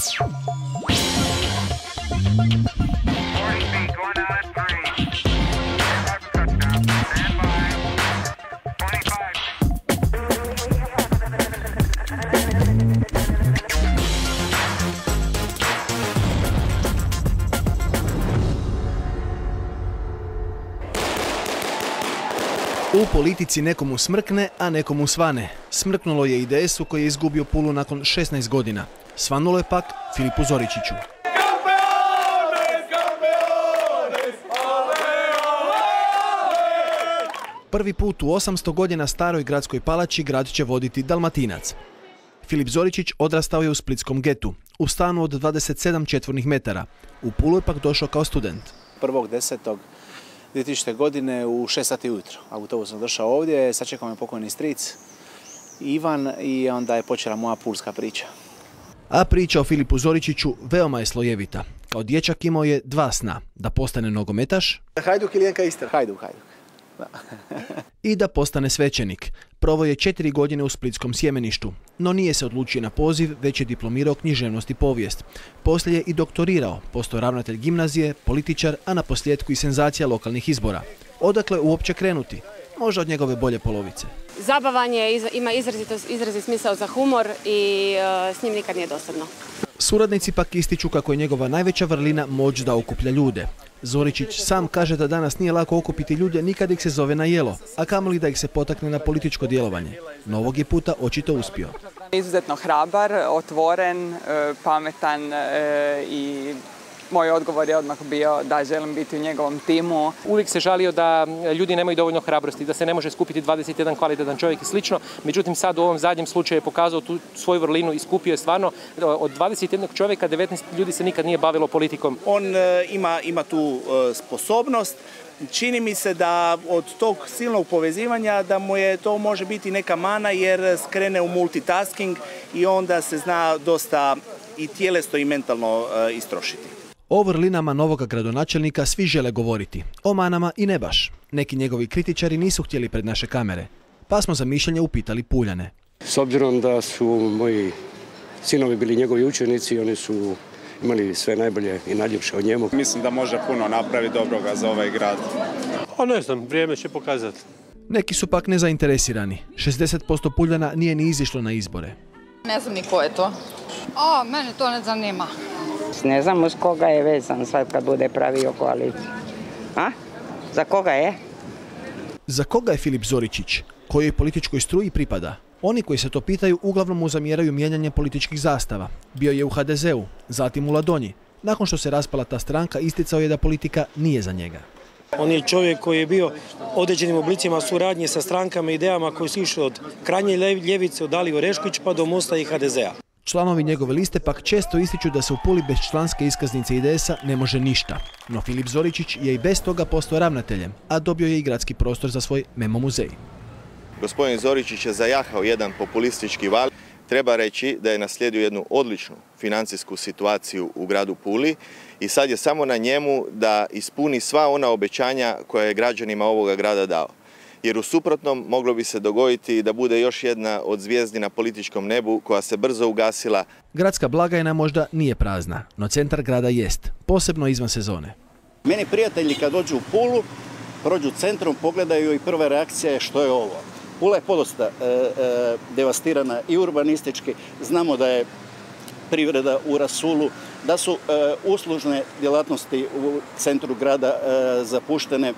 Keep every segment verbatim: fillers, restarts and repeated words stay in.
U politici nekomu smrkne, a nekomu svane. Smrknulo je I D S-u koji je izgubio Pulu nakon šesnaest godina. Svanulo je pak Filipu Zoričiću. Prvi put u osamsto godina staroj gradskoj palači grad će voditi Dalmatinac. Filip Zoričić odrastao je u splitskom getu, u stanu od dvadeset sedam četvornih metara. U Pulu je pak došao kao student. prvog desetog dvije tisućite. godine u šest sati ujutro. Autobus sam došao ovdje, sačekao me pokojni stric Ivan i onda je počela moja pulska priča. A priča o Filipu Zoričiću veoma je slojevita. Kao dječak imao je dva sna, da postane nogometaš Hajduk ili N K Istra? Hajduk, Hajduk. Da. I da postane svećenik. Proveo je četiri godine u splitskom sjemeništu, no nije se odlučio na poziv, već je diplomirao književnost I povijest. Poslije je I doktorirao, postao ravnatelj gimnazije, političar, a na posljedku I senzacija lokalnih izbora. Odakle uopće krenuti? Možda od njegove bolje polovice. Zabavan je, ima izrazito, izrazit smisao za humor I uh, s njim nikad nije dosadno. Suradnici pak ističu kako je njegova najveća vrlina moć da okuplja ljude. Zoričić sam kaže da danas nije lako okupiti ljude ni kad ih se zove na jelo, a kamoli da ih se potakne na političko djelovanje. No ovog je puta očito uspio. Izuzetno hrabar, otvoren, pametan I moj odgovor je odmah bio da želim biti u njegovom timu. Uvijek se žalio da ljudi nemaju dovoljno hrabrosti, da se ne može skupiti dvadeset jedan kvalitetan čovjek I slično. Međutim, sad u ovom zadnjem slučaju je pokazao tu svoju vrlinu I skupio je stvarno od dvadeset jednog čovjeka devetnaest ljudi se nikad nije bavilo politikom. On ima, ima tu sposobnost. Čini mi se da od tog silnog povezivanja da mu je to može biti neka mana jer skrene u multitasking I onda se zna dosta I tjelesno I mentalno istrošiti. O vrlinama novog gradonačelnika svi žele govoriti, o manama I ne baš. Neki njegovi kritičari nisu htjeli pred naše kamere, pa smo za mišljenje upitali Puljane. S obzirom da su moji sinovi bili njegovi učenici, oni su imali sve najbolje I najljepše od njemu. Mislim da može puno napraviti dobroga za ovaj grad. A ne znam, vrijeme će pokazati. Neki su pak nezainteresirani. šezdeset posto Puljana nije ni izišlo na izbore. Ne znam ni ko je to. A, mene to ne zanima. Ne znam uz koga je vezan sad kad bude pravio koaliciju. A? Za koga je? Za koga je Filip Zoričić? Kojoj političkoj struji pripada? Oni koji se to pitaju uglavnom mu zamjeraju mijenjanje političkih zastava. Bio je u H D Z-u, zatim u Ladonji. Nakon što se raspala ta stranka, isticao je da politika nije za njega. On je čovjek koji je bio određenim oblicima suradnje sa strankama I idejama koji su išli od krajnje ljevice, od Dalije Orešković pa do Mosta I H D Z-a. Članovi njegove liste pak često ističu da se u Puli bez članske iskaznice I D S-a ne može ništa. No Filip Zoričić je I bez toga postao ravnateljem, a dobio je I gradski prostor za svoj memo muzej. Gospodin Zoričić je zajahao jedan populistički val. Treba reći da je naslijedio jednu odličnu financijsku situaciju u gradu Puli I sad je samo na njemu da ispuni sva ona obećanja koja je građanima ovoga grada dao. Jer u suprotnom moglo bi se dogoditi da bude još jedna od zvijezdi na političkom nebu koja se brzo ugasila. Gradska blagajna možda nije prazna, no centar grada jest, posebno izvan sezone. Meni prijatelji kad dođu u Pulu, prođu centrom, pogledaju I prva reakcija je što je ovo. Pula je podosta e, e, devastirana I urbanistički. Znamo da je privreda u rasulu, da su e, uslužne djelatnosti u centru grada e, zapuštene, e,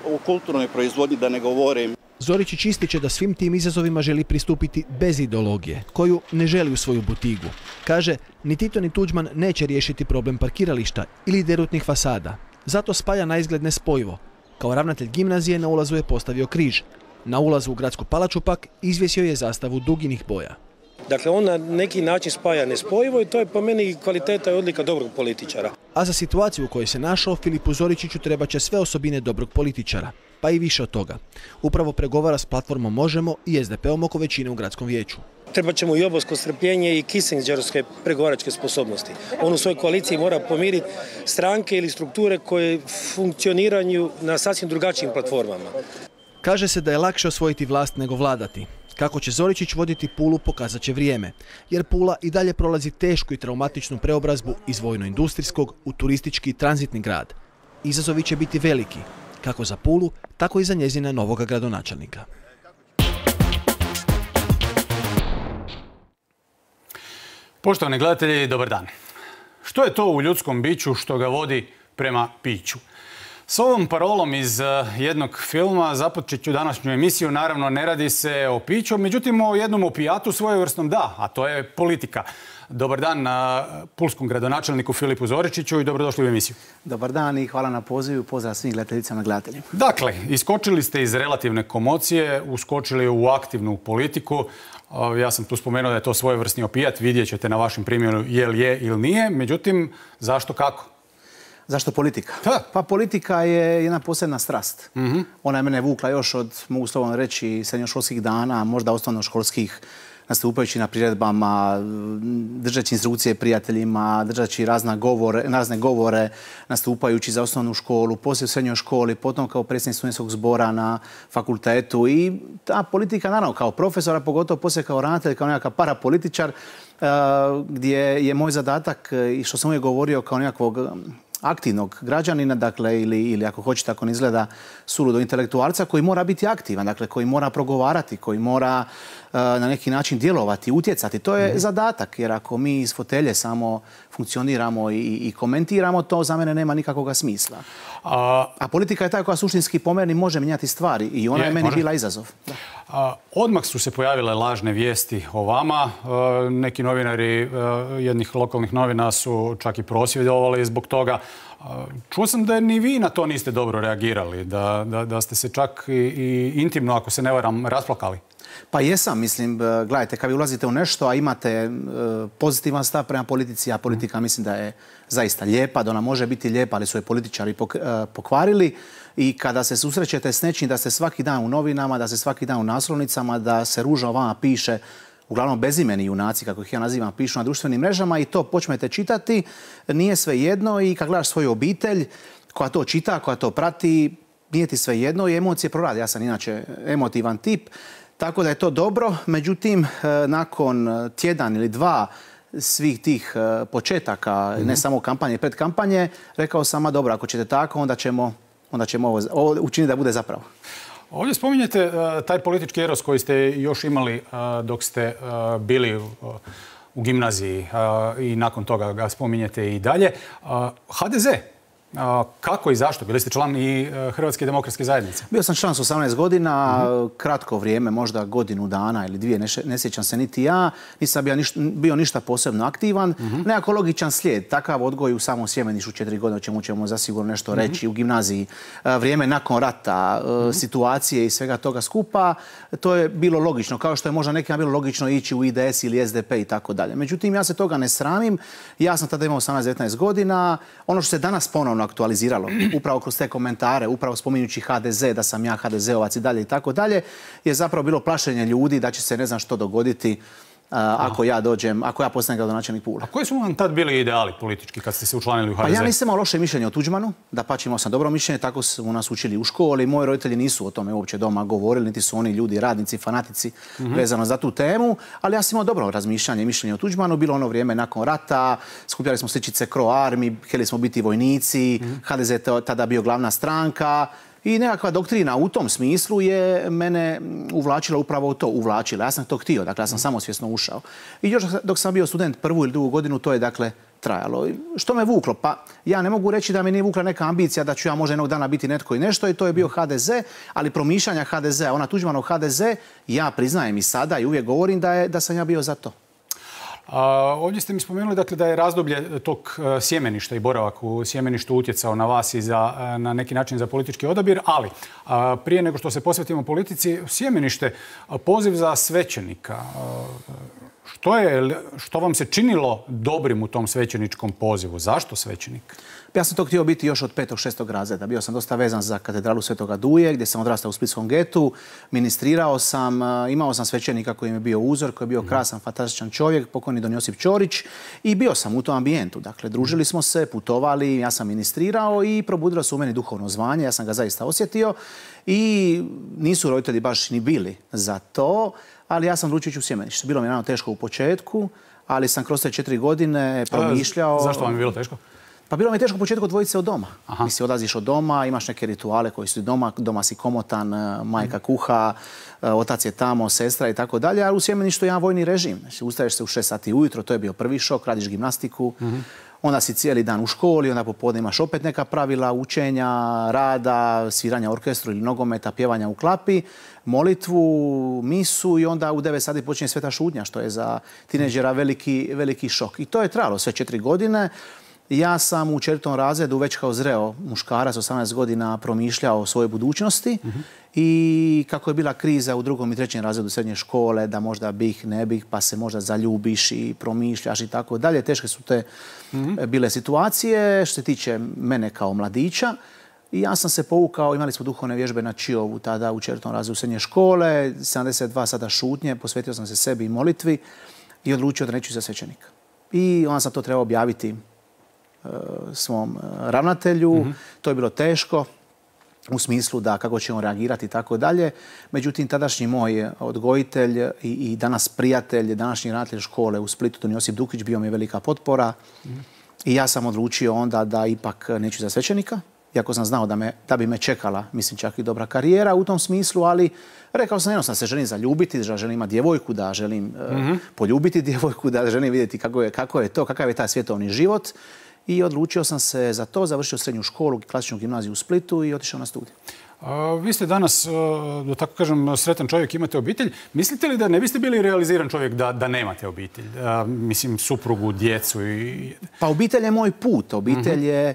u kulturnoj proizvodnji da ne govorim. Zoričić ističe da svim tim izazovima želi pristupiti bez ideologije, koju ne želi u svoju butigu. Kaže, ni Tito ni Tuđman neće riješiti problem parkirališta ili derutnih fasada. Zato spaja na izgled nespojivo. Kao ravnatelj gimnazije na ulazu je postavio križ. Na ulazu u gradsku palaču pak izvjesio je zastavu duginih boja. Dakle, on na neki način spaja nespojivo I to je po meni kvaliteta I odlika dobrog političara. A za situaciju u kojoj se našao, Filipu Zoričiću treba će sve osobine dobrog političara, pa I više od toga. Upravo pregovara s platformom Možemo I S D P-om oko većine u gradskom vijeću. Treba će mu I obosko strpljenje I kissingerovske pregovaračke sposobnosti. On u svojoj koaliciji mora pomiriti stranke ili strukture koje funkcioniraju na sasvim drugačijim platformama. Kaže se da je lakše osvojiti vlast nego vladati. Kako će Zoričić voditi Pulu pokazat će vrijeme, jer Pula i dalje prolazi tešku i traumatičnu preobrazbu iz vojno-industrijskog u turistički i tranzitni grad. Izazovi će biti veliki, kako za Pulu, tako i za njezina novoga gradonačelnika. Poštovani gledatelji, dobar dan. Što je to u ljudskom biću što ga vodi prema piću? S ovom parolom iz jednog filma započet ću današnju emisiju. Naravno, ne radi se o piću, međutim o jednom opijatu svojevrsnom da, a to je politika. Dobar dan pulskom gradonačelniku Filipu Zoričiću i dobrodošli u emisiju. Dobar dan i hvala na pozivu. Pozdrav svim gledateljicama i gledateljima. Dakle, iskočili ste iz relativne komocije, uskočili u aktivnu politiku. Ja sam tu spomenuo da je to svojevrsni opijat. Vidjet ćete na vašem primjeru je li je ili nije. Međutim, zašto, kako? Zašto politika? Ha. Pa politika je jedna posebna strast. Mm-hmm. Ona je mene vukla još od, mogu slobodno reći, srednjoškolskih dana, možda osnovnoškolskih, nastupajući na priredbama, držeći instrukcije prijateljima, držeći razne govore, razne govore, nastupajući za osnovnu školu, poslije u srednjoj školi, potom kao predsjednik studentskog zbora na fakultetu. I ta politika, naravno, kao profesora, pogotovo poslije kao ravnatelj, kao nekakav parapolitičar, gdje je moj zadatak, i što sam uvijek govorio, kao nekakvog aktivnog građanina, dakle, ili, ili ako hoćete, ako ne izgleda suludo, intelektualca koji mora biti aktivan, dakle, koji mora progovarati, koji mora uh, na neki način djelovati, utjecati. To je mm-hmm. zadatak, jer ako mi iz fotelje samo funkcioniramo i, i komentiramo, to za mene nema nikakvog smisla. A, A politika je ta koja suštinski po meni može mijenjati stvari i ona je, je meni može. bila izazov. Da. A, odmah su se pojavile lažne vijesti o vama. A, neki novinari a, jednih lokalnih novina su čak i prosvjedovali zbog toga. A, čuo sam da ni vi na to niste dobro reagirali, da, da, da ste se čak i, i intimno, ako se ne varam, rasplakali. Pa jesam, mislim, gledajte, kad vi ulazite u nešto, a imate pozitivan stav prema politici, a politika mislim da je zaista lijepa, da ona može biti lijepa, ali su je političari pokvarili. I kada se susrećete s nečim, da ste svaki dan u novinama, da ste svaki dan u naslovnicama, da se ružno o vama piše, uglavnom bezimeni junaci, kako ih ja nazivam, pišu na društvenim mrežama i to počnete čitati, nije sve jedno i kad gledaš svoju obitelj koja to čita, koja to prati, nije ti sve jedno i emocije prorade. Ja sam inače emotivan tip. Tako da je to dobro, međutim, nakon tjedan ili dva svih tih početaka, mm-hmm. ne samo kampanje i predkampanje, rekao sam, a dobro, ako ćete tako, onda ćemo, onda ćemo ovo, ovo učiniti da bude zapravo. Ovdje spominjete uh, taj politički eros koji ste još imali uh, dok ste uh, bili uh, u gimnaziji uh, i nakon toga ga spominjete i dalje. Uh, ha de ze. A, kako i zašto? Bili ste član i Hrvatske demokratske zajednice? Bio sam član s osamnaest godina, mm-hmm. kratko vrijeme, možda godinu dana ili dvije, ne, ne sjećam se niti ja. Nisam bio ništa, bio ništa posebno aktivan. Mm-hmm. Nekako logičan slijed, takav odgoj u samom Sjemenišu četiri godine, o čemu ćemo zasigurno nešto mm-hmm. reći, u gimnaziji. Vrijeme nakon rata, mm-hmm. situacije i svega toga skupa, to je bilo logično. Kao što je možda nekima bilo logično ići u i de es ili es de pe i tako dalje. Međutim, ja se toga ne sramim. Ja sam tada imao osamnaest devetnaest godina. Ono što se danas ponovno aktualiziralo, upravo kroz te komentare, upravo spominjući ha de ze, da sam ja ha de zeovac i dalje i tako dalje, je zapravo bilo plašenje ljudi da će se ne znam što dogoditi uh, ako ja dođem, ako ja postanem gradonačelnik Pule. A koji su vam tad bili ideali politički kad ste se učlanili u ha de ze? Pa ja nisam imao loše mišljenje o Tuđmanu, dapače imao sam dobro mišljenje, tako su nas učili u školi. Moji roditelji nisu o tome uopće doma govorili, niti su oni ljudi, radnici, fanatici mm-hmm. vezano za tu temu, ali ja sam imao dobro razmišljanje, mišljenje o Tuđmanu. Bilo ono vrijeme nakon rata, skupljali smo sličice Cro Army, htjeli smo biti vojnici, mm-hmm. ha de ze tada bio glavna stranka. I nekakva doktrina u tom smislu je mene uvlačila upravo u to, uvlačila. Ja sam to htio, dakle ja sam samosvjesno ušao. I još dok sam bio student prvu ili drugu godinu, to je dakle trajalo. Što me vuklo? Pa ja ne mogu reći da me nije vukla neka ambicija da ću ja možda jednog dana biti netko i nešto i to je bio ha de ze, ali promišljanja ha de ze, ona Tuđmanov ha de ze, ja priznajem i sada i uvijek govorim da, je, da sam ja bio za to. A, ovdje ste mi spomenuli dakle, da je razdoblje tog uh, sjemeništa i boravak u sjemeništu utjecao na vas i za, uh, na neki način za politički odabir, ali uh, prije nego što se posvetimo politici, sjemenište, uh, poziv za svećenika. Uh, što, je, što vam se činilo dobrim u tom svećeničkom pozivu? Zašto svećenik? Ja sam to htio biti još od petog, šestog razreda. Bio sam dosta vezan za katedralu Svetoga Duje, gdje sam odrastao u Splitskom getu. Ministrirao sam, imao sam svećenika koji mi je bio uzor, koji je bio krasan, fantastičan čovjek, pokojni don Josip Ćorić. I bio sam u tom ambijentu. Dakle, družili smo se, putovali, ja sam ministrirao i probudilo se u meni duhovno zvanje. Ja sam ga zaista osjetio i nisu roditelji baš ni bili za to. ali ja sam odlučio ići u Sjemenište. Bilo mi je naravno teško u početku, ali sam kroz te četiri godine promišljao... Zašto vam je bilo teško? Pa bilo mi je teško u početku odvojiti se od doma. Mislim, odlaziš od doma, imaš neke rituale koji su doma, doma si komotan, majka kuha, otac je tamo, sestra i tako dalje, ali u Sjemeništu je jedan vojni režim. Znači, ustaješ se u šest sati ujutro, to je bio prvi šok, radiš gimnastiku, onda si cijeli dan u školi, onda popodne imaš opet neka pravila učenja, rada, sviranja orkestru ili nogometa, pjevanja u klapi, molitvu, misu i onda u devet sati počinje sveta šutnja, što je za tineđera veliki, veliki šok. I to je trajalo sve četiri godine. Ja sam u četvrtom razredu već kao zreo muškarac, osamnaest godina, promišljao o svojoj budućnosti i kako je bila kriza u drugom i trećem razredu srednje škole, da možda bih, ne bih, pa se možda zaljubiš i promišljaš i tako dalje. Teške su te bile situacije što se tiče mene kao mladića. I ja sam se povukao, imali smo duhovne vježbe na Čiovu tada u četvrtom razredu srednje škole, sedamdeset dva sata šutnje, posvetio sam se sebi i molitvi i odlučio da neću za svećenika. I onda sam to trebao objaviti svom ravnatelju. Mm-hmm. To je bilo teško u smislu da kako će on reagirati i tako dalje. Međutim, tadašnji moj odgojitelj i, i danas prijatelj, današnji ravnatelj škole u Splitu, Don Josip Dukić, bio mi je velika potpora. Mm-hmm. I ja sam odlučio onda da ipak neću za svećenika. Iako sam znao da, me, da bi me čekala, mislim, čak i dobra karijera u tom smislu, ali rekao sam jednostavno da se želim zaljubiti, da želim imati djevojku, da želim mm-hmm. uh, poljubiti djevojku, da želim vidjeti kako je, kako je to, kakav je taj svjetovni život. I odlučio sam se za to, završio srednju školu, klasičnu gimnaziju u Splitu i otišao na studij. A, vi ste danas, da tako kažem, sretan čovjek, imate obitelj. Mislite li da ne biste bili realiziran čovjek da, da nemate obitelj? A, mislim, suprugu, djecu i... Pa obitelj je moj put. Obitelj je,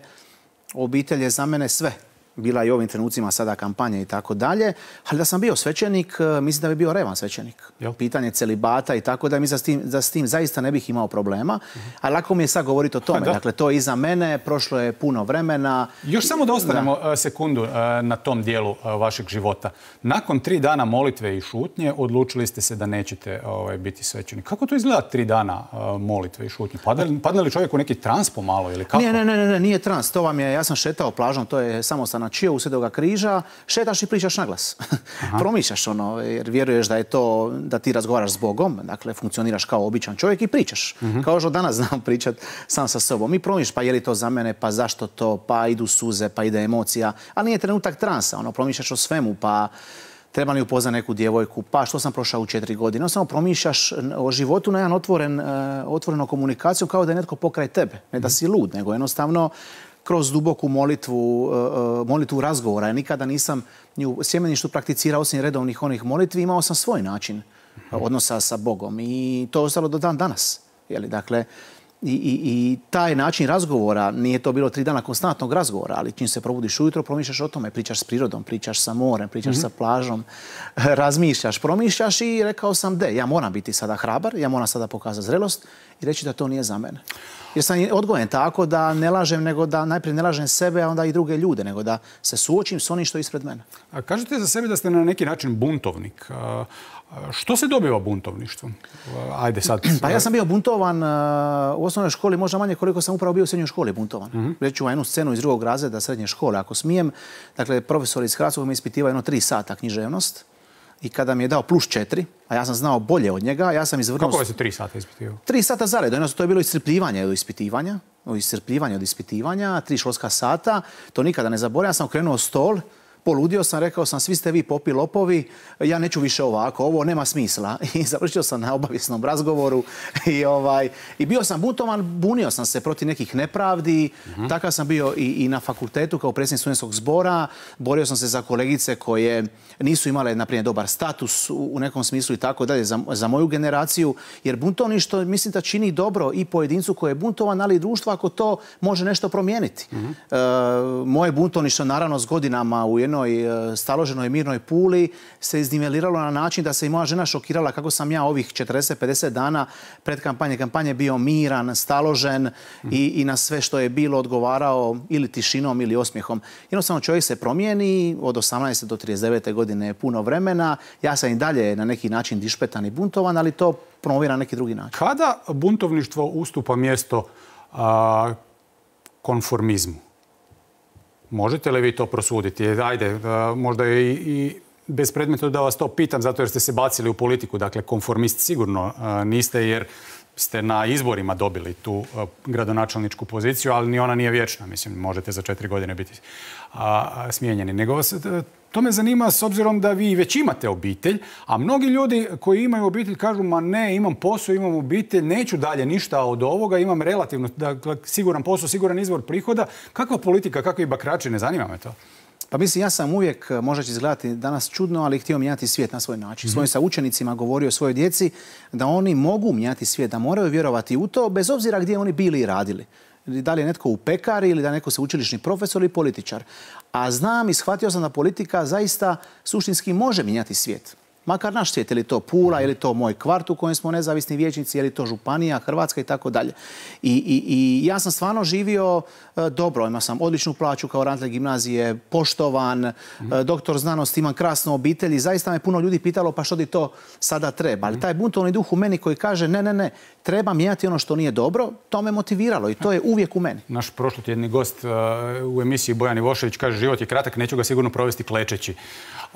obitelj je za mene sve. Bila i ovim trenucima sada kampanje i tako dalje. Ali da sam bio svećenik, mislim da bi bio revan svećenik. Jel? Pitanje celibata i tako da mi za s tim, za s tim zaista ne bih imao problema. Uh-huh. Ali lako mi je sad govoriti o tome. Da. Dakle, to je iza mene, prošlo je puno vremena. Još samo da ostanemo da. sekundu na tom dijelu vašeg života. Nakon tri dana molitve i šutnje odlučili ste se da nećete ovaj, biti svećenik. Kako to izgleda tri dana molitve i šutnje? Padne, padne li čovjek u neki trans pomalo ili kako? Ne, ne, ne, ne, nije trans. To vam je, ja sam šetao plažom, to je samostalna Čiovu Svetoga križa, šetaš i pričaš naglas. Promišljaš ono, jer vjeruješ da je to, da ti razgovaraš s Bogom, dakle funkcioniraš kao običan čovjek i pričaš. Uh-huh. Kao što danas znam pričat sam sa sobom. I promišljaš, pa je li to za mene, pa zašto to, pa idu suze, pa ide emocija. Ali nije trenutak transa, ono, promišljaš o svemu, pa treba li upoznati neku djevojku, pa što sam prošao u četiri godine. Samo promišljaš o životu na jedan otvoren, uh, otvorenu komunikaciju kao da je netko pokraj tebe. Ne da si lud, nego jednostavno kroz duboku molitvu, uh, molitvu razgovora. Ja nikada nisam ni u Sjemeništu prakticirao osim redovnih onih molitvi, imao sam svoj način odnosa sa Bogom i to je ostalo do dan danas. Jeli, dakle, i, i, i taj način razgovora, nije to bilo tri dana konstantnog razgovora, ali čim se probudiš ujutro, promišljaš o tome, pričaš s prirodom, pričaš sa morem, pričaš mm-hmm. sa plažom, razmišljaš, promišljaš i rekao sam de, ja moram biti sada hrabar, ja moram sada pokazati zrelost i reći da to nije za mene. Jer sam odgojen tako da ne lažem, nego da najprije ne lažem sebe, a onda i druge ljude, nego da se suočim s onim što je ispred mene. A kažete za sebe da ste na neki način buntovnik. A, što se dobiva buntovništvom? Ajde sad. Pa ja sam bio buntovan u osnovnoj školi, možda manje koliko sam upravo bio u srednjoj školi buntovan. Mm-hmm. Reći ću jednu scenu iz drugog razreda srednje škole, ako smijem. Dakle, profesor iz Hrvatskog mi ispitivao jedno tri sata književnost. I kada mi je dao plus četiri, a ja sam znao bolje od njega, ja sam izvrnuo... Kako je se tri sata ispitivao? Tri sata zaredom. To je bilo iscrpljivanje od ispitivanja. Iscrpljivanje od ispitivanja, tri školska sata. To nikada ne zaboravim. Ja sam okrenuo stol, poludio sam, rekao sam, svi ste vi popi lopovi, ja neću više ovako, ovo nema smisla. I završio sam na obavisnom razgovoru i, ovaj, i bio sam buntovan, bunio sam se protiv nekih nepravdi, uh-huh. Takav sam bio i, i na fakultetu kao predsjednik studentskog zbora, borio sam se za kolegice koje nisu imale, na primjer, dobar status u, u nekom smislu i tako dalje za, za moju generaciju, jer buntovništvo mislim da čini dobro i pojedincu koji je buntovan, ali i društvo ako to može nešto promijeniti. Uh-huh. E, moje buntovništvo naravno s godinama u jednoj staloženoj mirnoj Puli se izniveliralo na način da se i moja žena šokirala kako sam ja ovih četrdeset pedeset dana pred kampanje kampanje bio miran, staložen mm. i, i na sve što je bilo odgovarao ili tišinom ili osmijehom. Jednostavno čovjek se promijeni, od osamnaeste do trideset devete godine je puno vremena. Ja sam i dalje na neki način dišpetan i buntovan, ali to promovira na neki drugi način. Kada buntovništvo ustupa mjesto a, konformizmu? Možete li vi to prosuditi? Ajde, možda je i, i bespredmetno da vas to pitam, zato jer ste se bacili u politiku. Dakle, konformist sigurno niste, jer ste na izborima dobili tu gradonačelničku poziciju, ali ni ona nije vječna. Mislim, možete za četiri godine biti smijenjeni. Nego vas, to me zanima s obzirom da vi već imate obitelj, a mnogi ljudi koji imaju obitelj kažu ma ne, imam posao, imam obitelj, neću dalje ništa od ovoga, imam relativno dakle, siguran posao, siguran izvor prihoda. Kakva politika, kakvi bakrači, ne zanima me to? Pa mislim, ja sam uvijek, možda će izgledati danas čudno, ali htio mijenjati svijet na svoj način. Mm-hmm. Svojim sa učenicima govorio svojoj djeci da oni mogu mijenjati svijet, da moraju vjerovati u to, bez obzira gdje oni bili i radili. Da li je netko u pekari ili da je neko sveučilišni profesor ili političar. A znam i shvatio sam da politika zaista suštinski može mijenjati svijet. Makar naš svijet, je li to Pula, je li to moj kvart u kojem smo nezavisni vijećnici, je li to Županija, Hrvatska i tako dalje. I ja sam stvarno živio e, dobro, imao sam odličnu plaću kao ravnatelj gimnazije, poštovan, mm. e, doktor znanosti, imam krasnu obitelj i zaista me puno ljudi pitalo pa što ti to sada treba. Ali taj buntovni duh u meni koji kaže ne, ne, ne, treba mijenjati ono što nije dobro, to me motiviralo i to je uvijek u meni. Naš prošlotjedni gost uh, u emisiji Bojan Ivošević kaže život je kratak, neću ga sigurno provesti klečeći.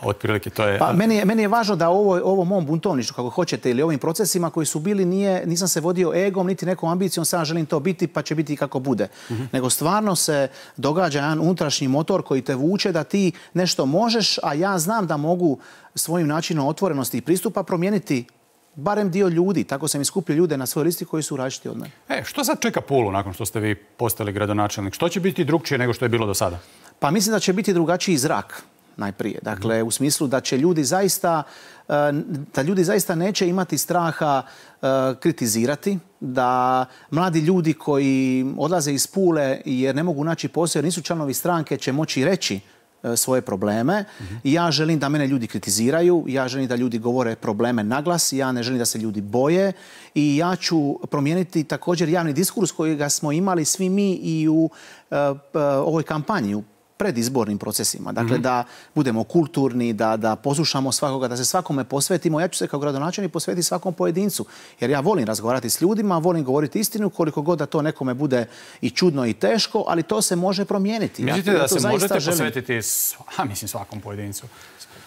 Otprilike to je... Pa, meni, je, meni je važno da ovo, ovo mom buntovništvu, kako hoćete, ili ovim procesima koji su bili, nije, nisam se vodio egom, niti nekom ambicijom, sad želim to biti, pa će biti kako bude. Mm-hmm. Nego stvarno se događa jedan unutrašnji motor koji te vuče da ti nešto možeš, a ja znam da mogu svojim načinom otvorenosti i pristupa promijeniti barem dio ljudi. Tako sam iskupio ljude na svojoj listi koji su različiti od mene. E, što sad čeka Pulu nakon što ste vi postali gradonačelnik? Što će biti drugčije nego što je bilo do sada? Pa mislim da će biti drugačiji zrak. Najprije. Dakle, u smislu da će ljudi zaista, da ljudi zaista neće imati straha kritizirati, da mladi ljudi koji odlaze iz Pule jer ne mogu naći posao, jer nisu članovi stranke, će moći reći svoje probleme. Mm-hmm. Ja želim da mene ljudi kritiziraju, ja želim da ljudi govore probleme naglas, ja ne želim da se ljudi boje i ja ću promijeniti također javni diskurs kojega smo imali svi mi i u uh, uh, ovoj kampanji, u predizbornim procesima. Dakle, mm-hmm. da budemo kulturni, da, da poslušamo svakoga, da se svakome posvetimo. Ja ću se kao gradonačelnik posvetiti svakom pojedincu. Jer ja volim razgovarati s ljudima, volim govoriti istinu, koliko god da to nekome bude i čudno i teško, ali to se može promijeniti. Mislite ja, da se možete želim... posvetiti a, mislim, svakom pojedincu?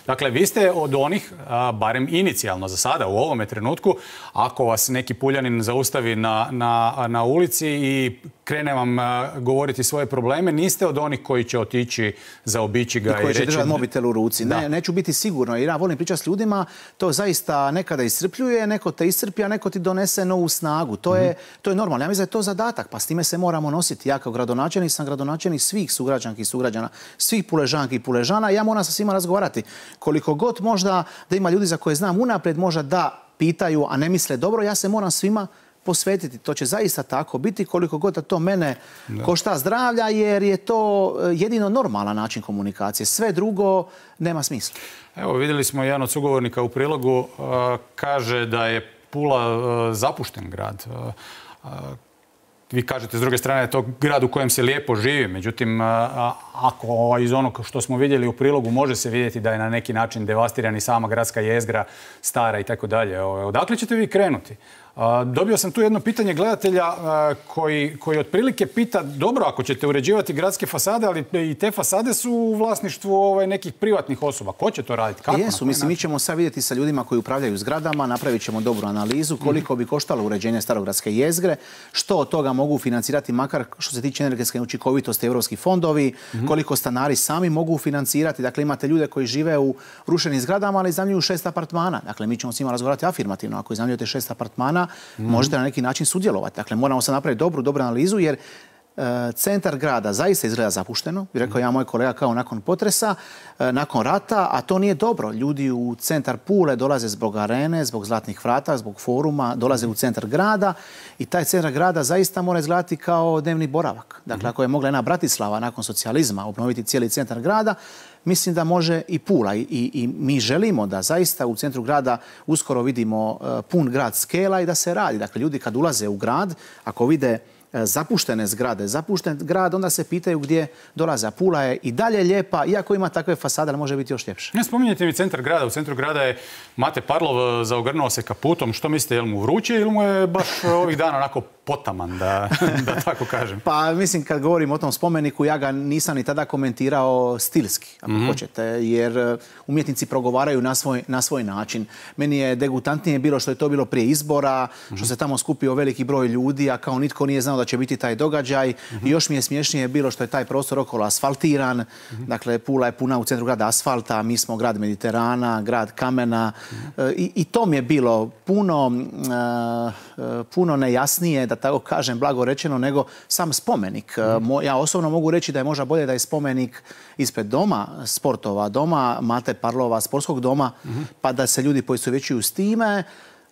Dakle, vi ste od onih, a, barem inicijalno za sada, u ovome trenutku, ako vas neki Puljanin zaustavi na, na, na ulici i krene vam a, govoriti svoje probleme, niste od onih koji će otići, zaobići ga i, i koji će reći... držati mobitel u ruci. Ne, neću biti sigurno, jer ja volim pričati s ljudima, to zaista nekada iscrpljuje, neko te iscrpi, a neko ti donese novu snagu. To, mm-hmm. je, to je normalno. Ja mislim da je to zadatak, pa s time se moramo nositi. Ja kao gradonačelnik sam gradonačelnik svih sugrađanki i sugrađana, svih Puležanki i Puležana. Ja moram sa svima razgovarati. Koliko god možda da ima ljudi za koje znam unaprijed možda da pitaju, a ne misle dobro, ja se moram svima posvetiti. To će zaista tako biti, koliko god da to mene da. košta zdravlja, jer je to jedino normalan način komunikacije. Sve drugo nema smisla. Evo, vidjeli smo jedan od sugovornika u prilogu, uh, kaže da je Pula uh, zapušten grad. Uh, uh, Vi kažete, s druge strane, je to grad u kojem se lijepo živi. Međutim, ako iz onog što smo vidjeli u prilogu može se vidjeti da je na neki način devastiran i sama gradska jezgra, stara i tako dalje. Odakle ćete vi krenuti? Dobio sam tu jedno pitanje gledatelja koji, koji otprilike pita, dobro, ako ćete uređivati gradske fasade, ali i te fasade su u vlasništvu ovaj, nekih privatnih osoba. Ko će to raditi? Kako? Jesu, mislim, mi ćemo sad vidjeti sa ljudima koji upravljaju zgradama, napravit ćemo dobru analizu koliko bi koštalo uređenje starogradske jezgre, što od toga mogu financirati, makar što se tiče energetske učinkovitosti, evropski fondovi, mm-hmm. koliko stanari sami mogu financirati. Dakle, imate ljude koji žive u rušenim zgradama, ali iznajmljuju šest apartmana. Dakle, mi ćemo s njima razgovarati afirmativno. Ako iznajmljujete šest apartmana, mm. možete na neki način sudjelovati. Dakle, moramo sad napraviti dobru, dobru analizu, jer e, centar grada zaista izgleda zapušteno. Bi rekao ja, moj kolega, kao nakon potresa, e, nakon rata, a to nije dobro. Ljudi u centar Pule dolaze zbog arene, zbog Zlatnih vrata, zbog foruma, dolaze u centar grada i taj centar grada zaista mora izgledati kao dnevni boravak. Dakle, ako je mogla jedna Bratislava nakon socijalizma obnoviti cijeli centar grada, mislim da može i Pula. I, i, i mi želimo da zaista u centru grada uskoro vidimo uh, pun grad skela i da se radi. Dakle, ljudi kad ulaze u grad, ako vide uh, zapuštene zgrade, zapušten grad, onda se pitaju gdje dolaze. A Pula je i dalje lijepa, iako ima takve fasade, ali može biti još ljepše. Ne spominjete mi centar grada. U centru grada je Mate Parlov zaogrnuo se kaputom. Što mislite, je li mu vruće ili mu je baš ovih dana onako potaman, da, da tako kažem. Pa mislim, kad govorim o tom spomeniku, ja ga nisam ni tada komentirao stilski, ako mm-hmm. hoćete, jer umjetnici progovaraju na svoj, na svoj način. Meni je degutantnije bilo što je to bilo prije izbora, mm-hmm. što se tamo skupio veliki broj ljudi, a kao nitko nije znao da će biti taj događaj. Mm-hmm. I još mi je smješnije bilo što je taj prostor okolo asfaltiran. Mm-hmm. Dakle, Pula je puna u centru grada asfalta, mi smo grad Mediterana, grad kamena. Mm-hmm. I, i to mi je bilo puno, uh, puno nejasnije, da tako kažem, blago rečeno, nego sam spomenik. Mm. Ja osobno mogu reći da je možda bolje da je spomenik ispred doma sportova, doma Mate Parlova, sportskog doma, mm-hmm. pa da se ljudi poistovjećuju s time.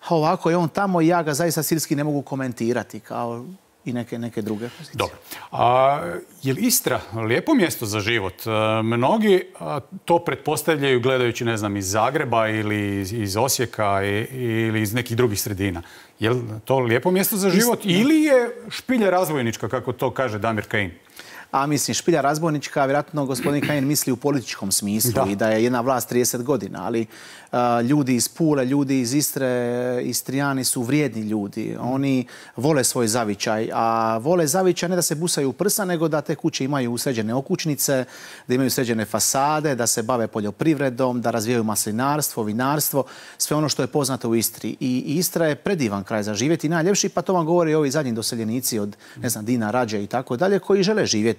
A ovako je on tamo i ja ga zaista stilski ne mogu komentirati kao i neke, neke druge pozicije. Dobro. A, je li Istra lijepo mjesto za život? A, mnogi a, to pretpostavljaju gledajući, ne znam, iz Zagreba ili iz, iz Osijeka i, ili iz nekih drugih sredina. Je li to lijepo mjesto za život Istra, ili je špilja razvojnička, kako to kaže Damir Kajin? A mislim, špilja razbojnička, vjerojatno gospodin Kajin misli u političkom smislu da. I da je jedna vlast trideset godina, ali uh, ljudi iz Pule, ljudi iz Istre, Istrijani su vrijedni ljudi. Oni vole svoj zavičaj, a vole zavičaj ne da se busaju u prsa, nego da te kuće imaju sređene okućnice, da imaju sređene fasade, da se bave poljoprivredom, da razvijaju maslinarstvo, vinarstvo, sve ono što je poznato u Istri. I Istra je predivan kraj za živjeti i najljepši, pa to vam govori ovi zadnji doseljenici od, ne znam, Dina, Rađe i tako dalje, koji žele živjeti.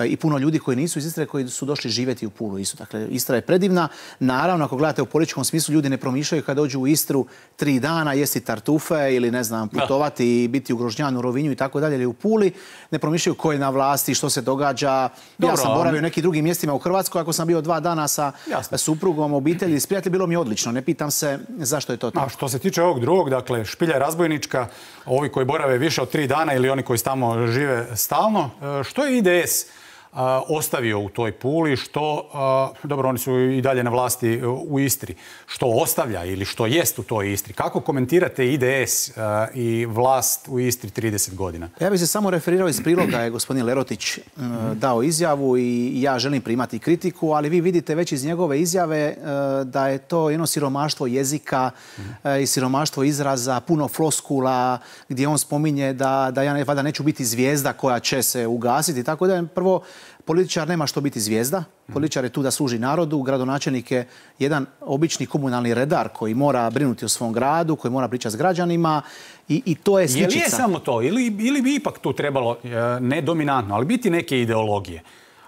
I puno ljudi koji nisu iz Istre, koji su došli živjeti u Pulu isto. Dakle, Istra je predivna. Naravno, ako gledate u političkom smislu, ljudi ne promišljaju kad dođu u Istru tri dana jesti tartufe ili, ne znam, putovati i biti u Grožnjanu, Rovinju i tako dalje, ili u Puli. Ne promišljaju ko je na vlasti, što se događa. Dobro, ja sam boravio u nekim drugim mjestima u Hrvatskoj. Ako sam bio dva dana sa jasno. Suprugom, obitelji, s prijatelji, bilo mi odlično. Ne pitam se zašto je to tako. A što se tiče ovog drugog, dakle, špilja razbojnička, ovi koji borave više od tri dana ili oni koji tamo žive stalno, što je I D S ostavio u toj Puli, što, dobro, oni su i dalje na vlasti u Istri, što ostavlja ili što jest u toj Istri? Kako komentirate I D S i vlast u Istri trideset godina? Ja bih se samo referirao iz priloga, je gospodin Lerotić dao izjavu i ja želim primati kritiku, ali vi vidite već iz njegove izjave da je to jedno siromaštvo jezika i siromaštvo izraza, puno floskula, gdje on spominje da, da ja valjda neću biti zvijezda koja će se ugasiti. Tako da prvo, političar nema što biti zvijezda. Političar je tu da služi narodu. Gradonačelnik je jedan obični komunalni redar koji mora brinuti o svom gradu, koji mora pričati s građanima i, i to je sličica. Je li je samo to? Ili, ili bi ipak tu trebalo, ne dominantno, ali biti neke ideologije?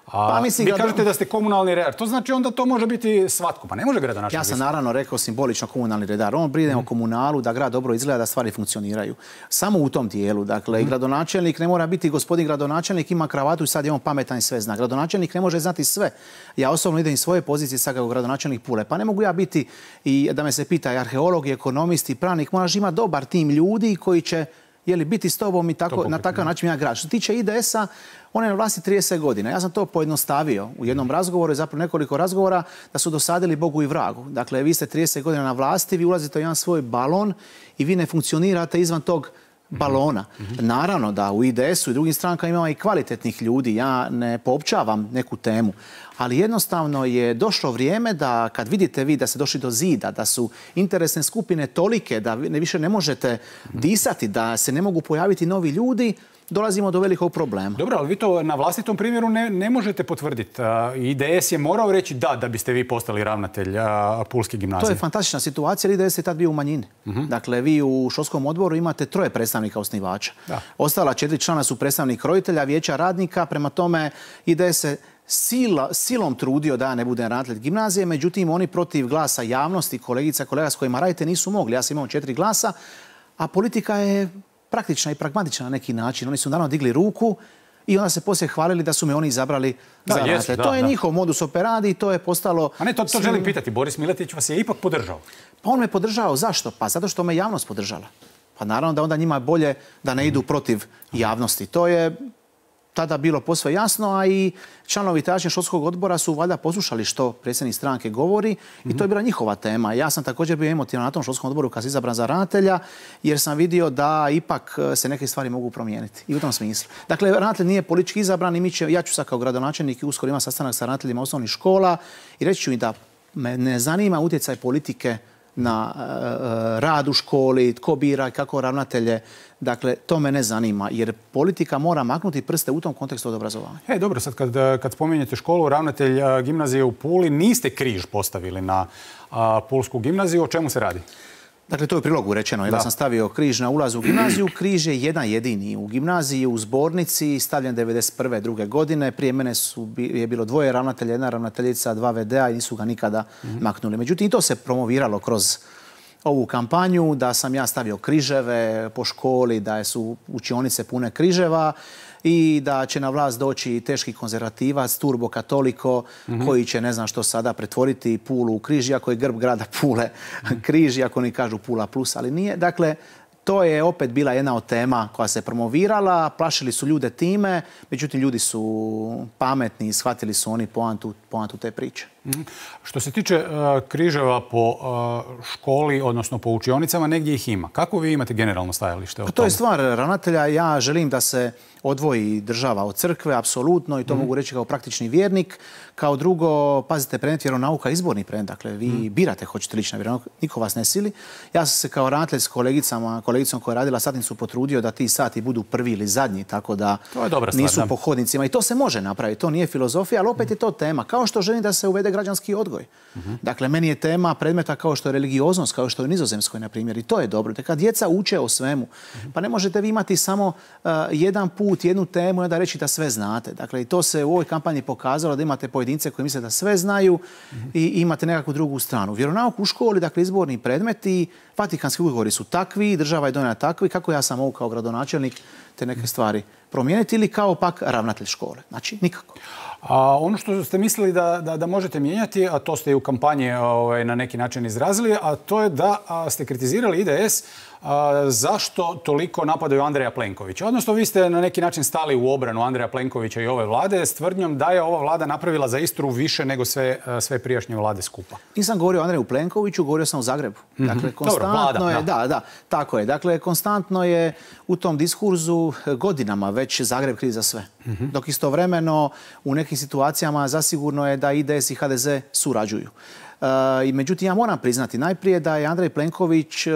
A pa, mislim, vi kažete da ste komunalni redar. To znači onda to može biti svatko. Pa ne može gradonačelnik. Ja sam naravno rekao simbolično komunalni redar. On brine mm. o komunalu, da grad dobro izgleda, da stvari funkcioniraju. Samo u tom dijelu. Dakle, mm. gradonačelnik ne mora biti gospodin gradonačelnik, ima kravatu i sad je on pametan i sve zna. Gradonačelnik ne može znati sve. Ja osobno idem iz svoje pozicije sad kao gradonačelnik Pule. Pa ne mogu ja biti i da me se pita i arheolog, i ekonomist, i pravnik. Moraš imati dobar tim ljudi koji će je li biti s tobom i tako, na takav način ja grad. Što se tiče I D S-a, on je na vlasti trideset godina. Ja sam to pojednostavio u jednom razgovoru i zapravo nekoliko razgovora da su dosadili Bogu i vragu. Dakle, vi ste trideset godina na vlasti, vi ulazite u jedan svoj balon i vi ne funkcionirate izvan tog balona. Mm-hmm. Naravno da u I D S-u i drugim strankama ima i kvalitetnih ljudi. Ja ne poopćavam neku temu. Ali jednostavno je došlo vrijeme da kad vidite vi da ste došli do zida, da su interesne skupine tolike, da ne više ne možete disati, da se ne mogu pojaviti novi ljudi, dolazimo do velikog problema. Dobro, ali vi to na vlastitom primjeru ne, ne možete potvrditi. I D S je morao reći da, da biste vi postali ravnatelj Pulske gimnazije. To je fantastična situacija, jer I D S je tad bio u manjini. Uh-huh. Dakle, vi u školskom odboru imate troje predstavnika osnivača. Da. Ostala četiri člana su predstavnik roditelja, vijeća radnika, prema tome I D S se Sila, silom trudio da ja ne budem ravnatelj gimnazije, međutim oni protiv glasa javnosti, kolegica, kolega s kojima radite nisu mogli. Ja sam imao četiri glasa, a politika je praktična i pragmatična na neki način. Oni su naravno digli ruku i onda se poslije hvalili da su me oni izabrali da, za ravnatelja. To je da. njihov modus operandi i to je postalo... A ne, to, to svim... želim pitati. Boris Miletić vas je ipak podržao. Pa on me podržao. Zašto? Pa zato što me javnost podržala. Pa naravno da onda njima je bolje da ne idu protiv javnosti. To je tada bilo posve jasno, a i članovi tadašnjeg školskog odbora su valjda poslušali što predsjednik stranke govori mm-hmm. i to je bila njihova tema. Ja sam također bio emotivan na tom školskom odboru kad sam izabran za ravnatelja, jer sam vidio da ipak se neke stvari mogu promijeniti i u tom smislu. Dakle, ravnatelj nije politički izabran i mi će, ja ću sad kao gradonačelnik i uskoro imam sastanak sa ravnateljima osnovnih škola i reći ću im da me ne zanima utjecaj politike na rad u školi, tko bira, kako ravnatelje. Dakle, to me ne zanima, jer politika mora maknuti prste u tom kontekstu od obrazovanja. E, dobro, sad kad, kad spominjete školu, ravnatelj gimnazije u Puli, niste križ postavili na a, Pulsku gimnaziju. O čemu se radi? Dakle, to je u prilogu rečeno. Da sam stavio križ na ulazu u gimnaziju. Križ je jedan jedini u gimnaziji, u zbornici, stavljen devedeset prve druge godine. Prije mene su, je bilo dvoje ravnatelja, jedna ravnateljica, dva ve de a i nisu ga nikada mm-hmm. maknuli. Međutim, i to se promoviralo kroz ovu kampanju, da sam ja stavio križeve po školi, da su učionice pune križeva i da će na vlast doći teški konzervativac, turbokatoliko, mm-hmm. koji će, ne znam što sada, pretvoriti Pulu u križ, iako je grb grada Pule križ, iako oni kažu Pula plus, ali nije. Dakle, to je opet bila jedna od tema koja se promovirala, plašili su ljude time, međutim ljudi su pametni i shvatili su oni poantu, poantu te priče. Mm-hmm. Što se tiče uh, križeva po uh, školi, odnosno po učionicama, negdje ih ima. Kako vi imate generalno stajalište o tome? To je stvar ravnatelja. Ja želim da se odvoji država od crkve, apsolutno, i to mm. mogu reći kao praktični vjernik. Kao drugo, pazite, predmet vjeronauka je izborni predmet. Dakle, vi mm. birate hoćete lično vjeronauk, niko vas ne sili. Ja sam se kao ravnatelj s kolegicama, kolegicom koja je radila satnicu potrudio da ti sati budu prvi ili zadnji, tako da nisu stvar, po hodnicima. I to se može napraviti, to nije filozofija, ali opet je to tema. Kao što želim da se uvede građanski odgoj. Mm-hmm. Dakle, meni je tema predmeta kao što je religioznost, kao što je u Nizozemskoj, na primjer, i to je dobro. Kad djeca uče o svemu, mm-hmm. pa ne možete vi imati samo uh, jedan put, jednu temu i onda reći da sve znate. Dakle, i to se u ovoj kampanji pokazalo da imate pojedince koji misle da sve znaju mm-hmm. i imate nekakvu drugu stranu. Vjeronauk u školi, dakle, izborni predmeti, Vatikanski ugovori su takvi, država je donijela takvi, kako ja sam mogu kao gradonačelnik te neke stvari promijeniti ili kao pak ravnatelj škole. Znači, nikako. A ono što ste mislili da, da, da možete mijenjati, a to ste i u kampanji ovaj, na neki način izrazili, a to je da a, ste kritizirali I D S a, zašto toliko napadaju Andreja Plenkovića. Odnosno, vi ste na neki način stali u obranu Andreja Plenkovića i ove vlade s tvrdnjom da je ova vlada napravila za Istru više nego sve, sve prijašnje vlade skupa. Nisam govorio o Andreju Plenkoviću, govorio sam o Zagrebu. Dakle, mm-hmm. konstantno Dobro, vlada, je, da. da, da, tako je. Dakle, konstantno je u tom diskurzu godinama već Zagreb kriv za sve. Mm-hmm. Dok istovremeno u nekim situacijama zasigurno je da I D S i H D Z surađuju. I međutim, ja moram priznati najprije da je Andrej Plenković e,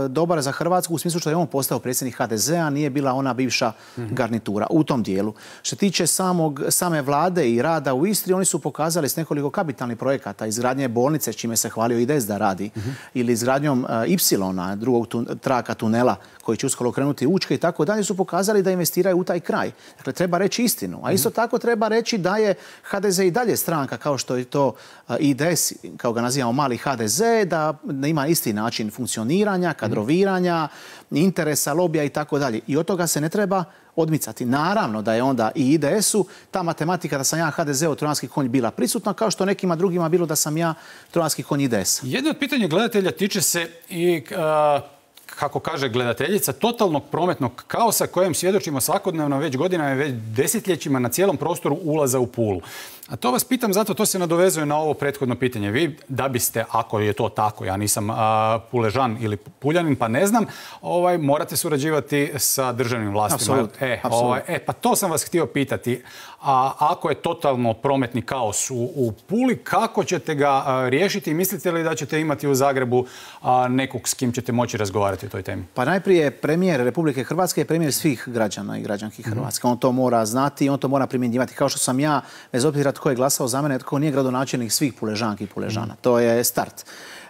dobar za Hrvatsku u smislu što je on postao predsjednik H D Z a, nije bila ona bivša mm-hmm. garnitura u tom dijelu. Što se tiče samog, same vlade i rada u Istri, oni su pokazali s nekoliko kapitalnih projekata, izgradnje bolnice, s čime se hvalio I D S da radi, mm-hmm. ili izgradnjom e, Ipsilona, drugog tu, traka tunela koji će uskoro krenuti Učke i tako dalje, su pokazali da investiraju u taj kraj. Dakle, treba reći istinu. A isto tako treba reći da je H D Z i dalje stranka kao što je to e, I D S, kao ga nazivamo mali H D Z, da ima isti način funkcioniranja, kadroviranja, interesa, lobija i tako dalje. I od toga se ne treba odmicati. Naravno da je onda i I D S-u ta matematika da sam ja H D Z-ov trojanski konj bila prisutna, kao što nekima drugima bilo da sam ja trojanski konj I D S-a. Jedno od pitanja gledatelja tiče se i... Uh... kako kaže gledateljica, totalnog prometnog kaosa kojem svjedočimo svakodnevno već godinama i već desetljećima na cijelom prostoru ulaza u Pulu. A to vas pitam zato, to se nadovezuje na ovo prethodno pitanje. Vi da biste, ako je to tako, ja nisam a, Puležan ili Puljanin, pa ne znam, ovaj, morate surađivati sa državnim vlastima. Absolut, e, absolut. Ovaj, e, pa to sam vas htio pitati. A ako je totalno prometni kaos u, u Puli, kako ćete ga a, riješiti? Mislite li da ćete imati u Zagrebu a, nekog s kim ćete moći razgovarati o toj temi? Pa najprije premijer Republike Hrvatske je premijer svih građana i građanki Hrvatske. Mm-hmm. On to mora znati i on to mora primjenjivati. Kao što sam ja, bez obzira tko je glasao za mene, tko nije gradonačelnik svih Puležanki i Puležana. Mm-hmm. To je start.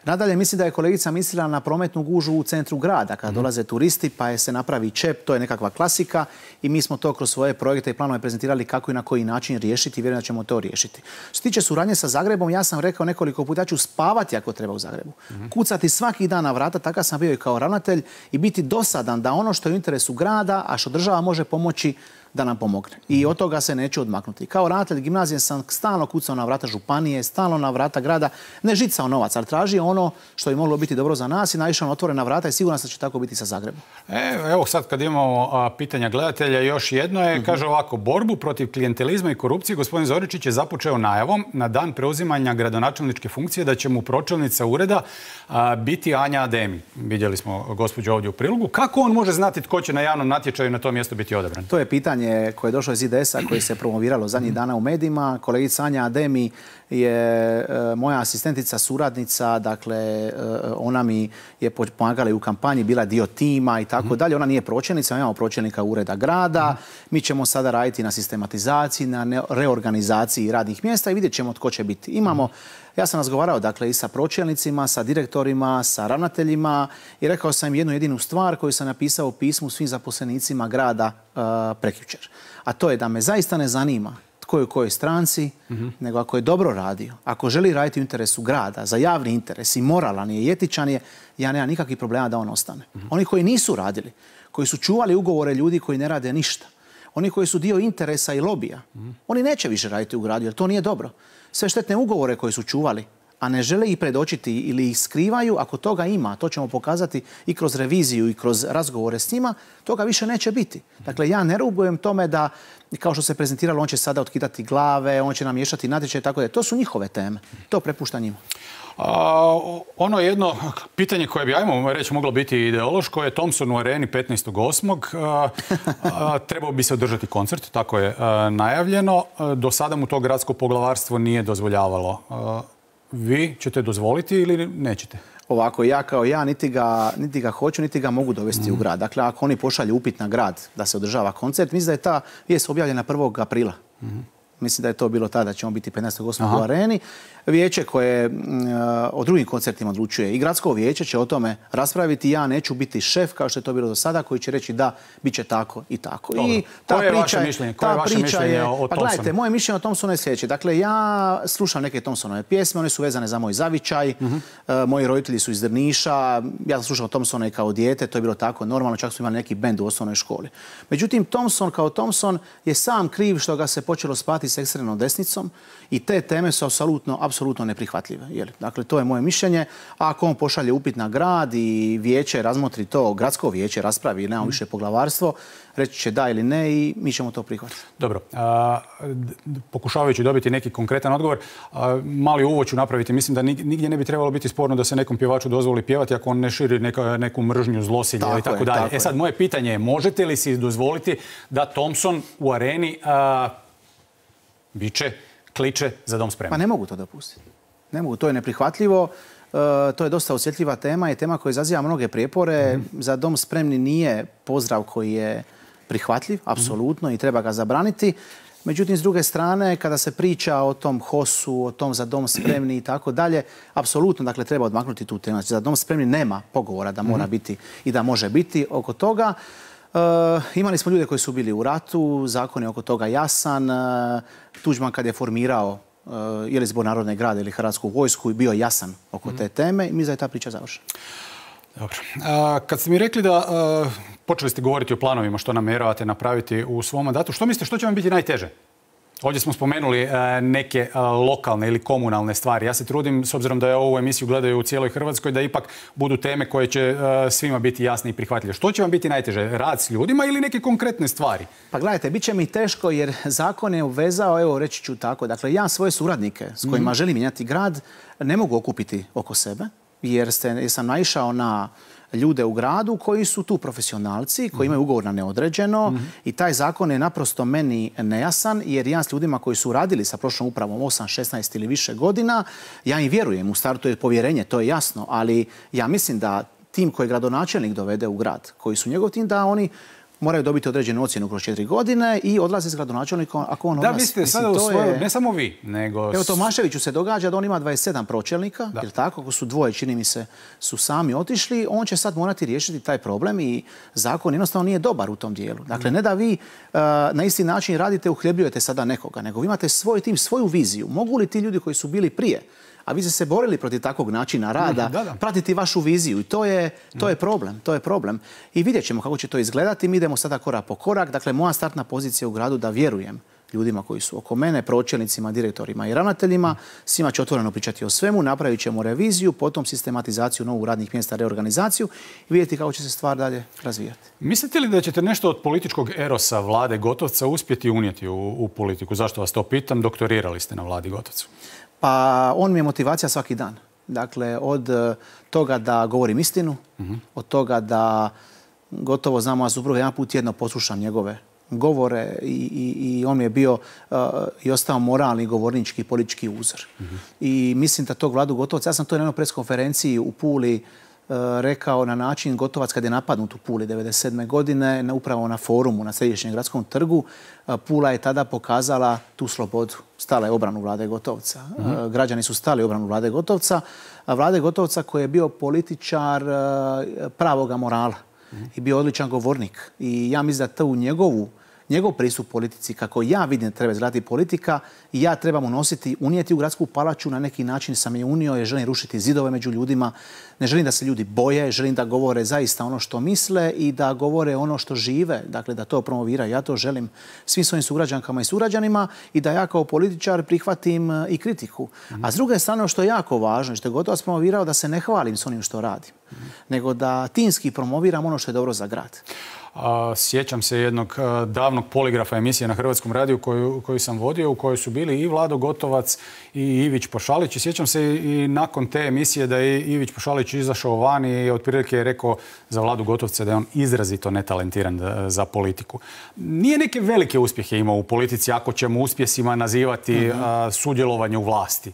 Nadalje, mislim da je kolegica mislila na prometnu gužu u centru grada, kada mm-hmm. dolaze turisti, pa je se napravi čep, to je nekakva klasika i mi smo to kroz svoje projekte i planove prezentirali kako i na koji način riješiti i vjerujem da ćemo to riješiti. Što se tiče suradnje sa Zagrebom, ja sam rekao nekoliko puta, ja ću spavati ako treba u Zagrebu. Mm-hmm. Kucati svaki dan na vrata, takav sam bio i kao ravnatelj, i biti dosadan da ono što je u interesu grada, a što država može pomoći, da nam pomogne. I od toga se neću odmaknuti. Kao ravnatelj gimnazije sam stalno kucao na vrata županije, stalno na vrata grada, ne žicao novac, ali tražio ono što je moglo biti dobro za nas i naišao na otvorena vrata i sigurno se će tako biti sa Zagrebom. E, evo sad kad imamo a, pitanja gledatelja, još jedno je, mm-hmm. kaže ovako, borbu protiv klijentelizma i korupcije gospodin Zoričić je započeo najavom na dan preuzimanja gradonačelničke funkcije da će mu pročelnica ureda a, biti Anja Ademi. Vidjeli smo gospođu ovdje u prilogu. Kako on može znati tko će na javnom natječaju na to mjesto biti odabran? To je pitanje koje je došlo iz I D S-a, koje se promoviralo zadnjih dana u medijima. Kolegica Anja Ademi je e, moja asistentica, suradnica, dakle, dakle ona mi je pomagala i u kampanji, bila dio tima i tako dalje. Ona nije pročelnica, imamo pročelnika ureda grada. Mi ćemo sada raditi na sistematizaciji, na reorganizaciji radnih mjesta i vidjet ćemo tko će biti. Imamo, ja sam razgovarao dakle i sa pročelnicima, sa direktorima, sa ravnateljima i rekao sam im jednu jedinu stvar koju sam napisao u pismu svim zaposlenicima grada uh, prekjučer. A to je da me zaista ne zanima tko je u kojoj stranci, mm-hmm. nego ako je dobro radio, ako želi raditi u interesu grada, za javni interes i moralan je i etičan je, ja nemam nikakvih problema da on ostane. Mm-hmm. Oni koji nisu radili, koji su čuvali ugovore ljudi koji ne rade ništa, oni koji su dio interesa i lobija, mm-hmm. oni neće više raditi u gradu jer to nije dobro. Sve štetne ugovore koje su čuvali, a ne žele ih predočiti ili ih skrivaju, ako toga ima, to ćemo pokazati i kroz reviziju i kroz razgovore s njima, toga više neće biti. Dakle, ja ne rugujem tome da, kao što se prezentiralo, on će sada otkidati glave, on će namješati natječaje, tako da to su njihove teme. To prepušta njima. A, ono jedno pitanje koje bi, ajmo reći, moglo biti ideološko je Thompson u Areni petnaestog osmog Trebao bi se održati koncert, tako je a, najavljeno. A, do sada mu to gradsko poglavarstvo nije dozvoljavalo. A, vi ćete dozvoliti ili nećete? Ovako, ja kao ja niti ga, niti ga hoću, niti ga mogu dovesti mm. u grad. Dakle, ako oni pošalju upit na grad da se održava koncert, mislim da je ta vijest objavljena prvog aprila. Mm. Mislim da je to bilo tada, da ćemo biti petnaestog osmog u Areni. Vijeće koje uh, o drugim koncertima odlučuje i gradsko vijeće će o tome raspraviti. Ja neću biti šef, kao što je to bilo do sada, koji će reći da, bit će tako i tako. Dobro. I ta Koje je priča, vaše mišljenje? Koje je vaše mišljenje je, o Thompsonu? Pa gledajte, moje mišljenje o Thompsonu je sljedeće. Dakle, ja slušam neke Thompsonove pjesme, one su vezane za moj zavičaj. Mm-hmm. uh, moji roditelji su iz Drniša. Ja sam slušao Thompsona i kao dijete, to je bilo tako normalno, čak su imali neki bend u osnovnoj školi. Međutim, Thompson kao Thompson je sam kriv što ga se počelo spati s ekstremnom desnicom i te teme su apsolutno, apsolutno neprihvatljive. Jel? Dakle, to je moje mišljenje. A ako on pošalje upit na grad i vijeće razmotri to, gradsko vijeće raspravi i nemamo više poglavarstvo, reći će da ili ne i mi ćemo to prihvatiti. Dobro. A, pokušavajući dobiti neki konkretan odgovor, a, mali uvod ću napraviti. Mislim da nigdje ne bi trebalo biti sporno da se nekom pjevaču dozvoli pjevati ako on ne širi neka, neku mržnju, zlosilje i tako dalje. E sad, moje pitanje je, možete li si dozvoliti da Thompson u Areni a, viče, kliče za dom spremni? Pa ne mogu to dopustiti. Ne mogu, to je neprihvatljivo. Uh, to je dosta osjetljiva tema i tema koja izaziva mnoge prijepore. Mm-hmm. Za dom spremni nije pozdrav koji je prihvatljiv, apsolutno, mm-hmm. i treba ga zabraniti. Međutim, s druge strane, kada se priča o tom hosu, o tom za dom spremni i tako dalje, apsolutno, dakle, treba odmaknuti tu temu. Za dom spremni nema pogovora da mora mm-hmm. biti i da može biti oko toga. Uh, imali smo ljude koji su bili u ratu, zakon je oko toga jasan. Uh, Tuđman kad je formirao uh, je li Zbor narodne grade ili Hrvatsku vojsku, bio jasan oko te teme i mislim da je ta priča završena. Dobro. Uh, kad ste mi rekli da uh, počeli ste govoriti o planovima što namjeravate napraviti u svom mandatu, što mislite što će vam biti najteže? Ovdje smo spomenuli uh, neke uh, lokalne ili komunalne stvari. Ja se trudim, s obzirom da je ovu emisiju gledaju u cijeloj Hrvatskoj, da ipak budu teme koje će uh, svima biti jasne i prihvatljive. Što će vam biti najteže? Rad s ljudima ili neke konkretne stvari? Pa gledajte, bit će mi teško jer zakon je uvezao, evo reći ću tako, dakle ja svoje suradnike s kojima mm. želim mijenjati grad ne mogu okupiti oko sebe jer, ste, jer sam naišao na ljude u gradu koji su tu profesionalci, koji imaju ugovor na neodređeno mm-hmm. i taj zakon je naprosto meni nejasan jer ja s ljudima koji su radili sa prošlom upravom osam, šesnaest ili više godina, ja im vjerujem, u startu je povjerenje, to je jasno, ali ja mislim da tim koji gradonačelnik dovede u grad, koji su njegov tim, da oni moraju dobiti određenu ocjenu kroz četiri godine i odlaze s gradonačelnikom ako on odlazi. Da, mislite sada u svoju, ne samo vi, nego... Evo, Tomaševiću se događa da on ima dvadeset sedam pročelnika, jer tako, ako su dvoje, čini mi se, su sami otišli, on će sad morati riješiti taj problem i zakon jednostavno nije dobar u tom dijelu. Dakle, ne da vi uh, na isti način radite, uhljebljujete sada nekoga, nego vi imate svoj tim, svoju viziju. Mogu li ti ljudi koji su bili prije, a vi ste se borili protiv takvog načina rada, da, da. pratiti vašu viziju i to je, to je problem, to je problem. I vidjet ćemo kako će to izgledati, mi idemo sada korak po korak. Dakle, moja startna pozicija u gradu da vjerujem ljudima koji su oko mene, pročelnicima, direktorima i ravnateljima, svima će otvoreno pričati o svemu, napravit ćemo reviziju, potom sistematizaciju novog radnih mjesta, reorganizaciju i vidjeti kako će se stvar dalje razvijati. Mislite li da ćete nešto od političkog erosa vlade Gotovca uspjeti unijeti u, u politiku? Zašto vas to pitam? Doktorirali ste na vladi Gotovcu. Pa on mi je motivacija svaki dan. Dakle, od toga da govorim istinu, mm-hmm. od toga da gotovo znam moja supruga, jedan put jedno poslušam njegove govore i, i, i on mi je bio uh, i ostao moralni govornički politički uzor. Mm-hmm. I mislim da tog Vladu Gotovca, ja sam to na jednoj preskonferenciji u Puli uh, rekao na način Gotovac kad je napadnut u Puli devedeset sedme godine, na, upravo na forumu na Središnjem gradskom trgu, uh, Pula je tada pokazala tu slobodu. Stala je obranu Vlade Gotovca. Mm-hmm. Uh, građani su stali obranu Vlade Gotovca, a Vlade Gotovca koji je bio političar uh, pravoga morala. Mm-hmm. I bio odličan govornik. I ja mislim da to u njegovu njegov pristup politici, kako ja vidim treba izgledati politika, i ja trebam unositi, unijeti u gradsku palaču, na neki način sam je unio, jer želim rušiti zidove među ljudima, ne želim da se ljudi boje, želim da govore zaista ono što misle i da govore ono što žive, dakle da to promoviraju. Ja to želim svim svojim sugrađankama i sugrađanima i da ja kao političar prihvatim i kritiku. Mm-hmm. A s druge strane, što je jako važno, što je Gotovac promovirao, da se ne hvalim s onim što radim, mm-hmm. nego da timski promoviram ono što je dobro za grad. Sjećam se jednog davnog poligrafa emisije na Hrvatskom radiju koju, koju sam vodio, u kojoj su bili i Vlado Gotovac i Ivić Pošalić. I sjećam se i nakon te emisije da je Ivić Pošalić izašao van i otprilike je rekao za Vladu Gotovca da je on izrazito netalentiran za politiku. Nije neke velike uspjehe imao u politici, ako ćemo uspjesima nazivati mm-hmm. sudjelovanje u vlasti.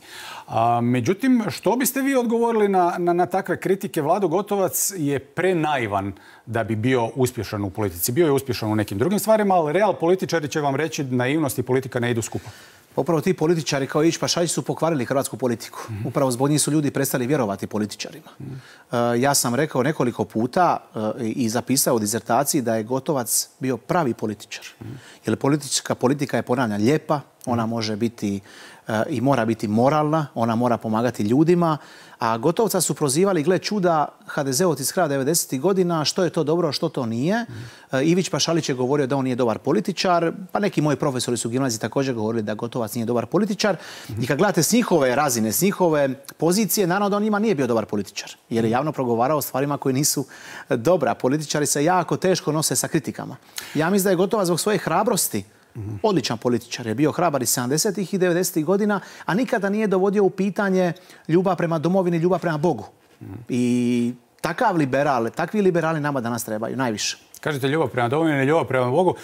A, međutim, što biste vi odgovorili na, na, na takve kritike? Vlado Gotovac je prenaivan da bi bio uspješan u politici. Bio je uspješan u nekim drugim stvarima, ali real političari će vam reći da naivnost i politika ne idu skupa. Upravo ti političari kao Ivić Pošalić su pokvarili hrvatsku politiku. Mm-hmm. Upravo zbog njih su ljudi prestali vjerovati političarima. Mm-hmm. Uh, ja sam rekao nekoliko puta uh, i zapisao u dizertaciji da je Gotovac bio pravi političar. Mm-hmm. Jer politička politika je, ponavljam, lijepa, ona mm-hmm. može biti uh, i mora biti moralna, ona mora pomagati ljudima, a Gotovca su prozivali, gle čuda, ha de zeovci iz kraja devedesetih godina, što je to dobro, što to nije. Mm. Ivić Pošalić je govorio da on nije dobar političar, pa neki moji profesori su u gimnaziji također govorili da Gotovac nije dobar političar. Mm. I kad gledate s njihove razine, s njihove pozicije, naravno da on njima nije bio dobar političar, jer je javno progovarao o stvarima koje nisu dobra. Političari se jako teško nose sa kritikama. Ja mislim da je Gotovac zbog svoje hrabrosti Mm-hmm. odličan političar. Je bio hrabar i sedamdesetih i devedesetih godina, a nikada nije dovodio u pitanje ljubav prema domovini, ljubav prema Bogu. Mm-hmm. I takav liberal, takvi liberali nama danas trebaju najviše. Kažete ljubav prema domovini, ljubav prema Bogu.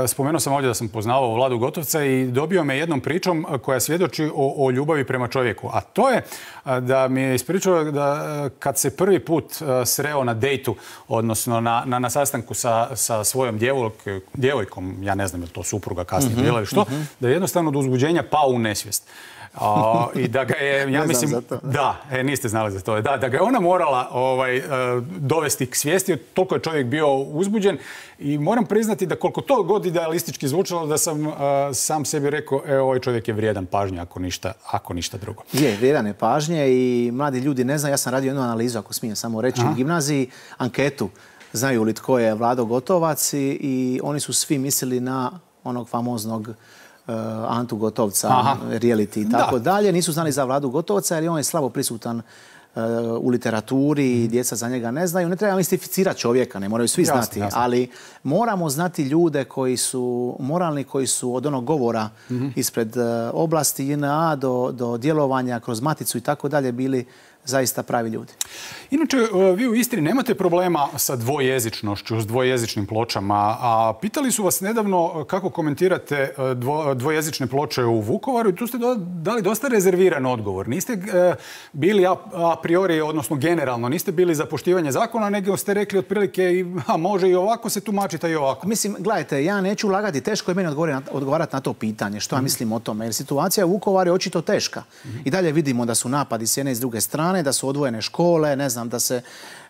Spomenuo sam ovdje da sam poznavao Vladu Gotovca i dobio me jednom pričom koja svjedoči o, o ljubavi prema čovjeku. A to je da mi je ispričao da kad se prvi put sreo na dejtu, odnosno na, na, na sastanku sa, sa svojom djevojk, djevojkom, ja ne znam je li to supruga kasnije mm-hmm. bila ili što, mm-hmm. da je jednostavno od uzbuđenja pao u nesvijest. A, i da ga je, ja mislim, da, e, niste znali za to, da, da ga je ona morala ovaj, dovesti k svijesti, toliko je čovjek bio uzbuđen i moram priznati da koliko to god idealistički zvučalo da sam uh, sam sebi rekao, e, ovaj čovjek je vrijedan pažnje ako ništa, ako ništa drugo. Je, vrijedan je pažnje i mladi ljudi ne znaju, ja sam radio jednu analizu, ako smijem samo reći, Aha. u gimnaziji, anketu, znaju li tko je Vlado Gotovac i, i oni su svi mislili na onog famoznog Uh, Antu Gotovca, Aha. reality i tako da. dalje. Nisu znali za Vladu Gotovca jer on je slabo prisutan uh, u literaturi, mm. djeca za njega ne znaju. Ne treba mistificirati čovjeka, ne moraju svi jasne, znati, jasne. ali moramo znati ljude koji su moralni, koji su od onog govora mm-hmm. ispred uh, oblasti J N A do, do djelovanja kroz Maticu i tako dalje bili zaista pravi ljudi. Inače, vi u Istri nemate problema sa dvojezičnošću, s dvojezičnim pločama, a pitali su vas nedavno kako komentirate dvo, dvojezične ploče u Vukovaru i tu ste do, dali dosta rezerviran odgovor. Niste e, bili a, a priori, odnosno generalno, niste bili za poštivanje zakona, nego ste rekli otprilike a može i ovako se tumačita i ovako. Mislim, gledajte, ja neću lagati, teško je meni odgovarati na to pitanje, što ja mislim o tome, jer situacija u Vukovaru je očito teška. Mm-hmm. I dalje vidimo da su napadi s jedne i s druge strane, da su odvojene škole, ne znam, da se,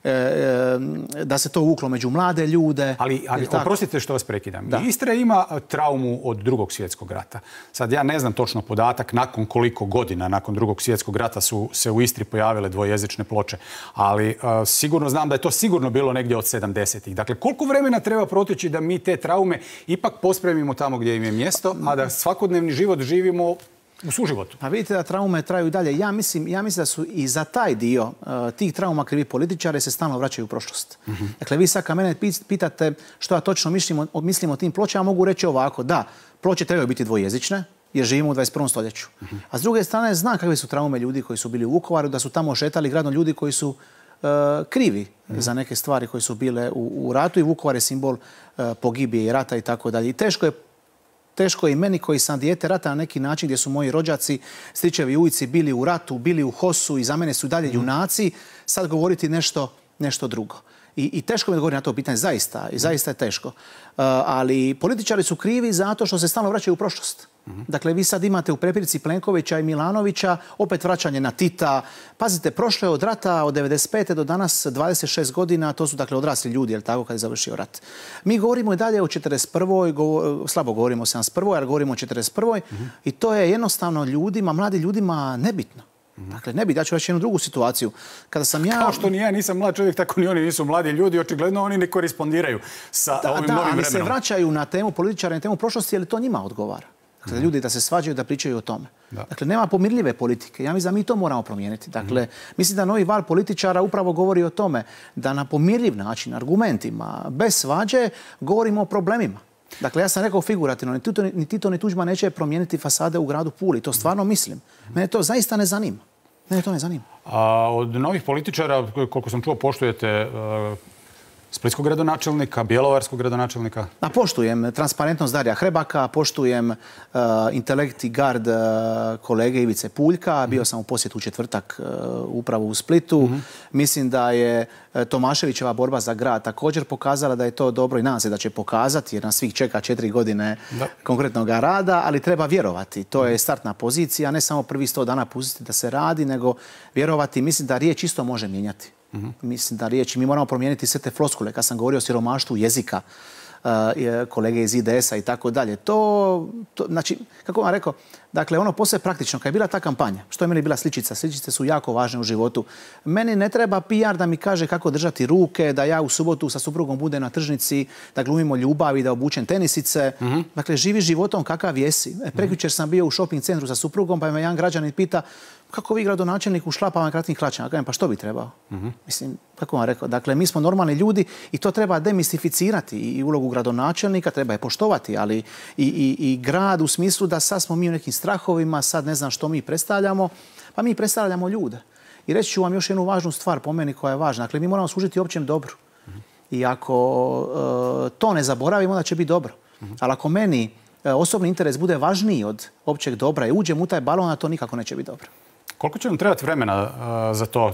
e, e, da se to uvuklo među mlade ljude. Ali, ali oprostite što vas prekidam. Da. Istra ima traumu od drugog svjetskog rata. Sad ja ne znam točno podatak nakon koliko godina nakon drugog svjetskog rata su se u Istri pojavile dvojezične ploče, ali a, sigurno znam da je to sigurno bilo negdje od sedamdesetih. Dakle, koliko vremena treba proteći da mi te traume ipak pospremimo tamo gdje im je mjesto, a da svakodnevni život živimo u suživotu? Pa vidite da traume traju i dalje. Ja mislim, ja mislim da su i za taj dio uh, tih trauma krivi političari se stalno vraćaju u prošlost. Mm-hmm. Dakle, vi sad kad mene pitate što ja točno mislim o, mislim o tim pločama, mogu reći ovako, da, ploče trebaju biti dvojezične, jer živimo u dvadeset prvom stoljeću. Mm-hmm. A s druge strane, znam kakve su traume ljudi koji su bili u Vukovaru, da su tamo šetali gradom ljudi koji su krivi za neke stvari koje su bile u, u ratu i Vukovar je simbol pogibije i rata i tako dalje. I teško je Teško je i meni koji sam dijete rata na neki način gdje su moji rođaci, stričevi i ujci bili u ratu, bili u Hosu i za mene su dalje junaci, sad govoriti nešto, nešto drugo. I, I teško mi je govoriti na to pitanje, zaista, i zaista je teško. Uh, ali političari su krivi zato što se stalno vraćaju u prošlost. Mm-hmm. Dakle, vi sad imate u prepirici Plenkovića i Milanovića opet vraćanje na Tita. Pazite, prošlo je od rata od devedeset pete do danas dvadeset šest godina, to su dakle odrasli ljudi, jel tako, kad je završio rat. Mi govorimo i dalje o četrdeset prvoj, Go, slabo govorimo o sedamdeset prvoj, ali govorimo o četrdeset prvoj Mm-hmm. I to je jednostavno ljudima, mladim ljudima nebitno. Dakle, ne bi, da ću reći jednu drugu situaciju. Kada sam ja... Kao što ni ja nisam mlad čovjek, tako ni oni nisu mladi ljudi. Očigledno oni ne korespondiraju sa da, ovim da, novim ali vremenom. Se vraćaju na temu političara, na temu prošlosti, jer to njima odgovara. Dakle, mm. ljudi da se svađaju, da pričaju o tome. Da. Dakle, nema pomirljive politike. Ja mislim da mi to moramo promijeniti. Dakle, mm. mislim da novi val političara upravo govori o tome da na pomirljiv način, argumentima, bez svađe, govorimo o problemima. Dakle, ja sam rekao figurativno, ni Tito, ni Tito, ni Tuđman neće promijeniti fasade u gradu Puli. To stvarno mislim. Mene to zaista ne zanima. Mene to ne zanima. A od novih političara, koliko sam čuo, poštujete uh, splitskog gradonačelnika, bjelovarskog gradonačelnika? A poštujem transparentnost Darija Hrebaka, poštujem uh, intelekt i gard uh, kolege Ivice Puljka. Bio sam u posjetu u četvrtak uh, upravo u Splitu. Mm-hmm. Mislim da je uh, Tomaševićeva borba za grad također pokazala da je to dobro i nadam se da će pokazati, jer nas svih čeka četiri godine da. konkretnog rada, ali treba vjerovati. To je startna pozicija, ne samo prvi sto dana pustiti da se radi, nego vjerovati. Mislim da riječ isto može mijenjati. Mm-hmm. Mislim da riječi, mi moramo promijeniti sve te floskule. Kad sam govorio o siromaštvu jezika, uh, kolege iz I D S-a i tako dalje, to, to, znači, kako vam rekao, dakle, ono posve praktično, kad je bila ta kampanja, što je meni bila sličica, sličice su jako važne u životu. Meni ne treba P R da mi kaže kako držati ruke, da ja u subotu sa suprugom budem na tržnici, da glumimo ljubav i da obučem tenisice. Mm-hmm. Dakle, živi životom kakav jesi. E, prekjučer sam bio u shopping centru sa suprugom, pa me jedan građanin pita kako vi gradonačelnik u šlapama kratkim hlačama? Kažem, pa što bi trebao? Mm-hmm. Mislim, kako vam rekao, dakle, mi smo normalni ljudi i to treba demistificirati. I ulogu gradonačelnika treba je poštovati, ali i, i, i grad u smislu da sad smo mi u nekim strahovima, sad ne znam što mi predstavljamo, pa mi predstavljamo ljude. I reći ću vam još jednu važnu stvar po meni koja je važna. Dakle, mi moramo služiti općem dobru. Mm-hmm. I ako uh, to ne zaboravimo, onda će biti dobro. Mm-hmm. Ali ako meni uh, osobni interes bude važniji od općeg dobra i uđem u taj balon, a to nikako neće biti dobro. Koliko će vam trebati vremena uh, za to?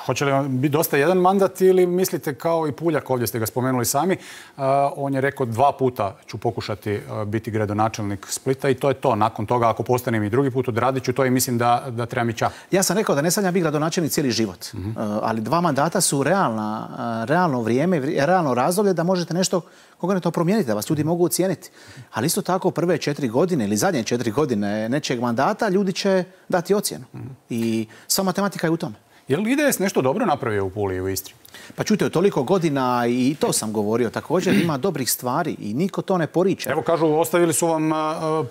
Hoće li vam biti dosta jedan mandat ili mislite kao i Puljak, ovdje ste ga spomenuli sami, uh, on je rekao dva puta ću pokušati uh, biti gradonačelnik Splita i to je to. Nakon toga, ako postanem i drugi put, odradit ću to i mislim da, da trebam i čak. Ja sam rekao da ne sanjam biti gradonačelnik cijeli život, mm-hmm. uh, ali dva mandata su realna, uh, realno vrijeme, realno razdoblje da možete nešto konkretno promijeniti, da vas ljudi mogu ocijeniti. Ali isto tako prve četiri godine ili zadnje četiri godine nečeg mandata ljudi će dati ocjenu. Mm-hmm. I sva matematika je u tome. Je li I D S nešto dobro napravio u Puli i u Istri? Pa čujte, od toliko godina i to sam govorio. Također ima dobrih stvari i niko to ne poriče. Evo kažu, ostavili su vam uh,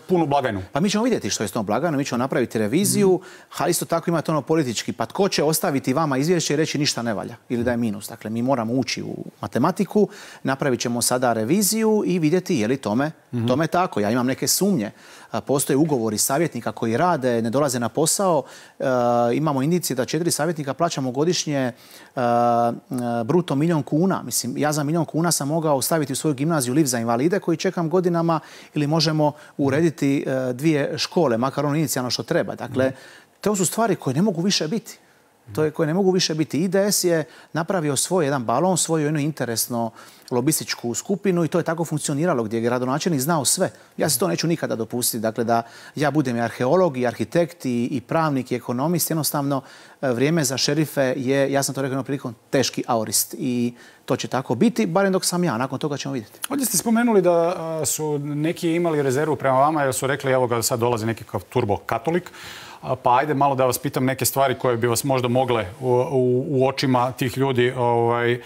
punu blagajnu. Pa mi ćemo vidjeti što je s tom blagajnom, mi ćemo napraviti reviziju, mm. a isto tako imate ono politički. Pa tko će ostaviti vama izvješće i reći ništa ne valja ili da je minus. Dakle, mi moramo ući u matematiku, napravit ćemo sada reviziju i vidjeti je li tome, mm-hmm. tome tako. Ja imam neke sumnje. Postoje ugovori savjetnika koji rade, ne dolaze na posao. E, imamo indicije da četiri savjetnika plaćamo godišnje e, bruto milijon kuna. Mislim, ja za milijon kuna sam mogao staviti u svoju gimnaziju lift za invalide koji čekam godinama ili možemo urediti e, dvije škole, makar ono inicijalno što treba. Dakle, to su stvari koje ne mogu više biti. To je koje ne mogu više biti. I D S je napravio svoj jedan balon, svoju jednu interesno lobističku skupinu i to je tako funkcioniralo gdje je gradonačelnik znao sve. Ja se to neću nikada dopustiti. Dakle, da ja budem i arheolog, i arhitekt, i, i pravnik, i ekonomist. Jednostavno, vrijeme za šerife je, ja sam to rekao jednom prilikom, teški aorist. I to će tako biti, barem dok sam ja. Nakon toga ćemo vidjeti. Ovdje ste spomenuli da su neki imali rezervu prema vama jer su rekli, evo ga sad dolazi nekakav turbo katolik. Pa ajde malo da vas pitam neke stvari koje bi vas možda mogle u, u, u očima tih ljudi ovaj,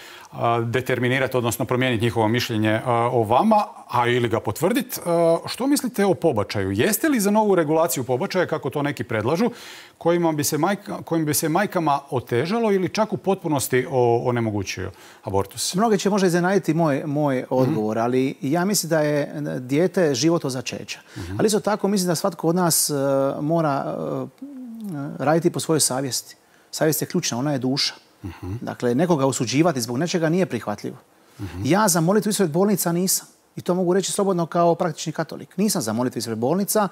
determinirati, odnosno promijeniti njihovo mišljenje o vama, a ili ga potvrditi. Što mislite o pobačaju? Jeste li za novu regulaciju pobačaja, kako to neki predlažu, kojima bi se, majka, kojim bi se majkama otežalo ili čak u potpunosti onemogućio abortus? Mnoge će možda iznenaditi moj, moj odgovor, mm-hmm. ali ja mislim da je dijete život od začeća. Mm-hmm. Ali isto tako mislim da svatko od nas uh, mora uh, raditi po svojoj savjesti. Savjest je ključna, ona je duša. Uh-huh. Dakle, nekoga osuđivati zbog nečega nije prihvatljivo. Uh-huh. Ja za molitvu ispred bolnica nisam. I to mogu reći slobodno kao praktični katolik. Nisam za molitvu ispred bolnica,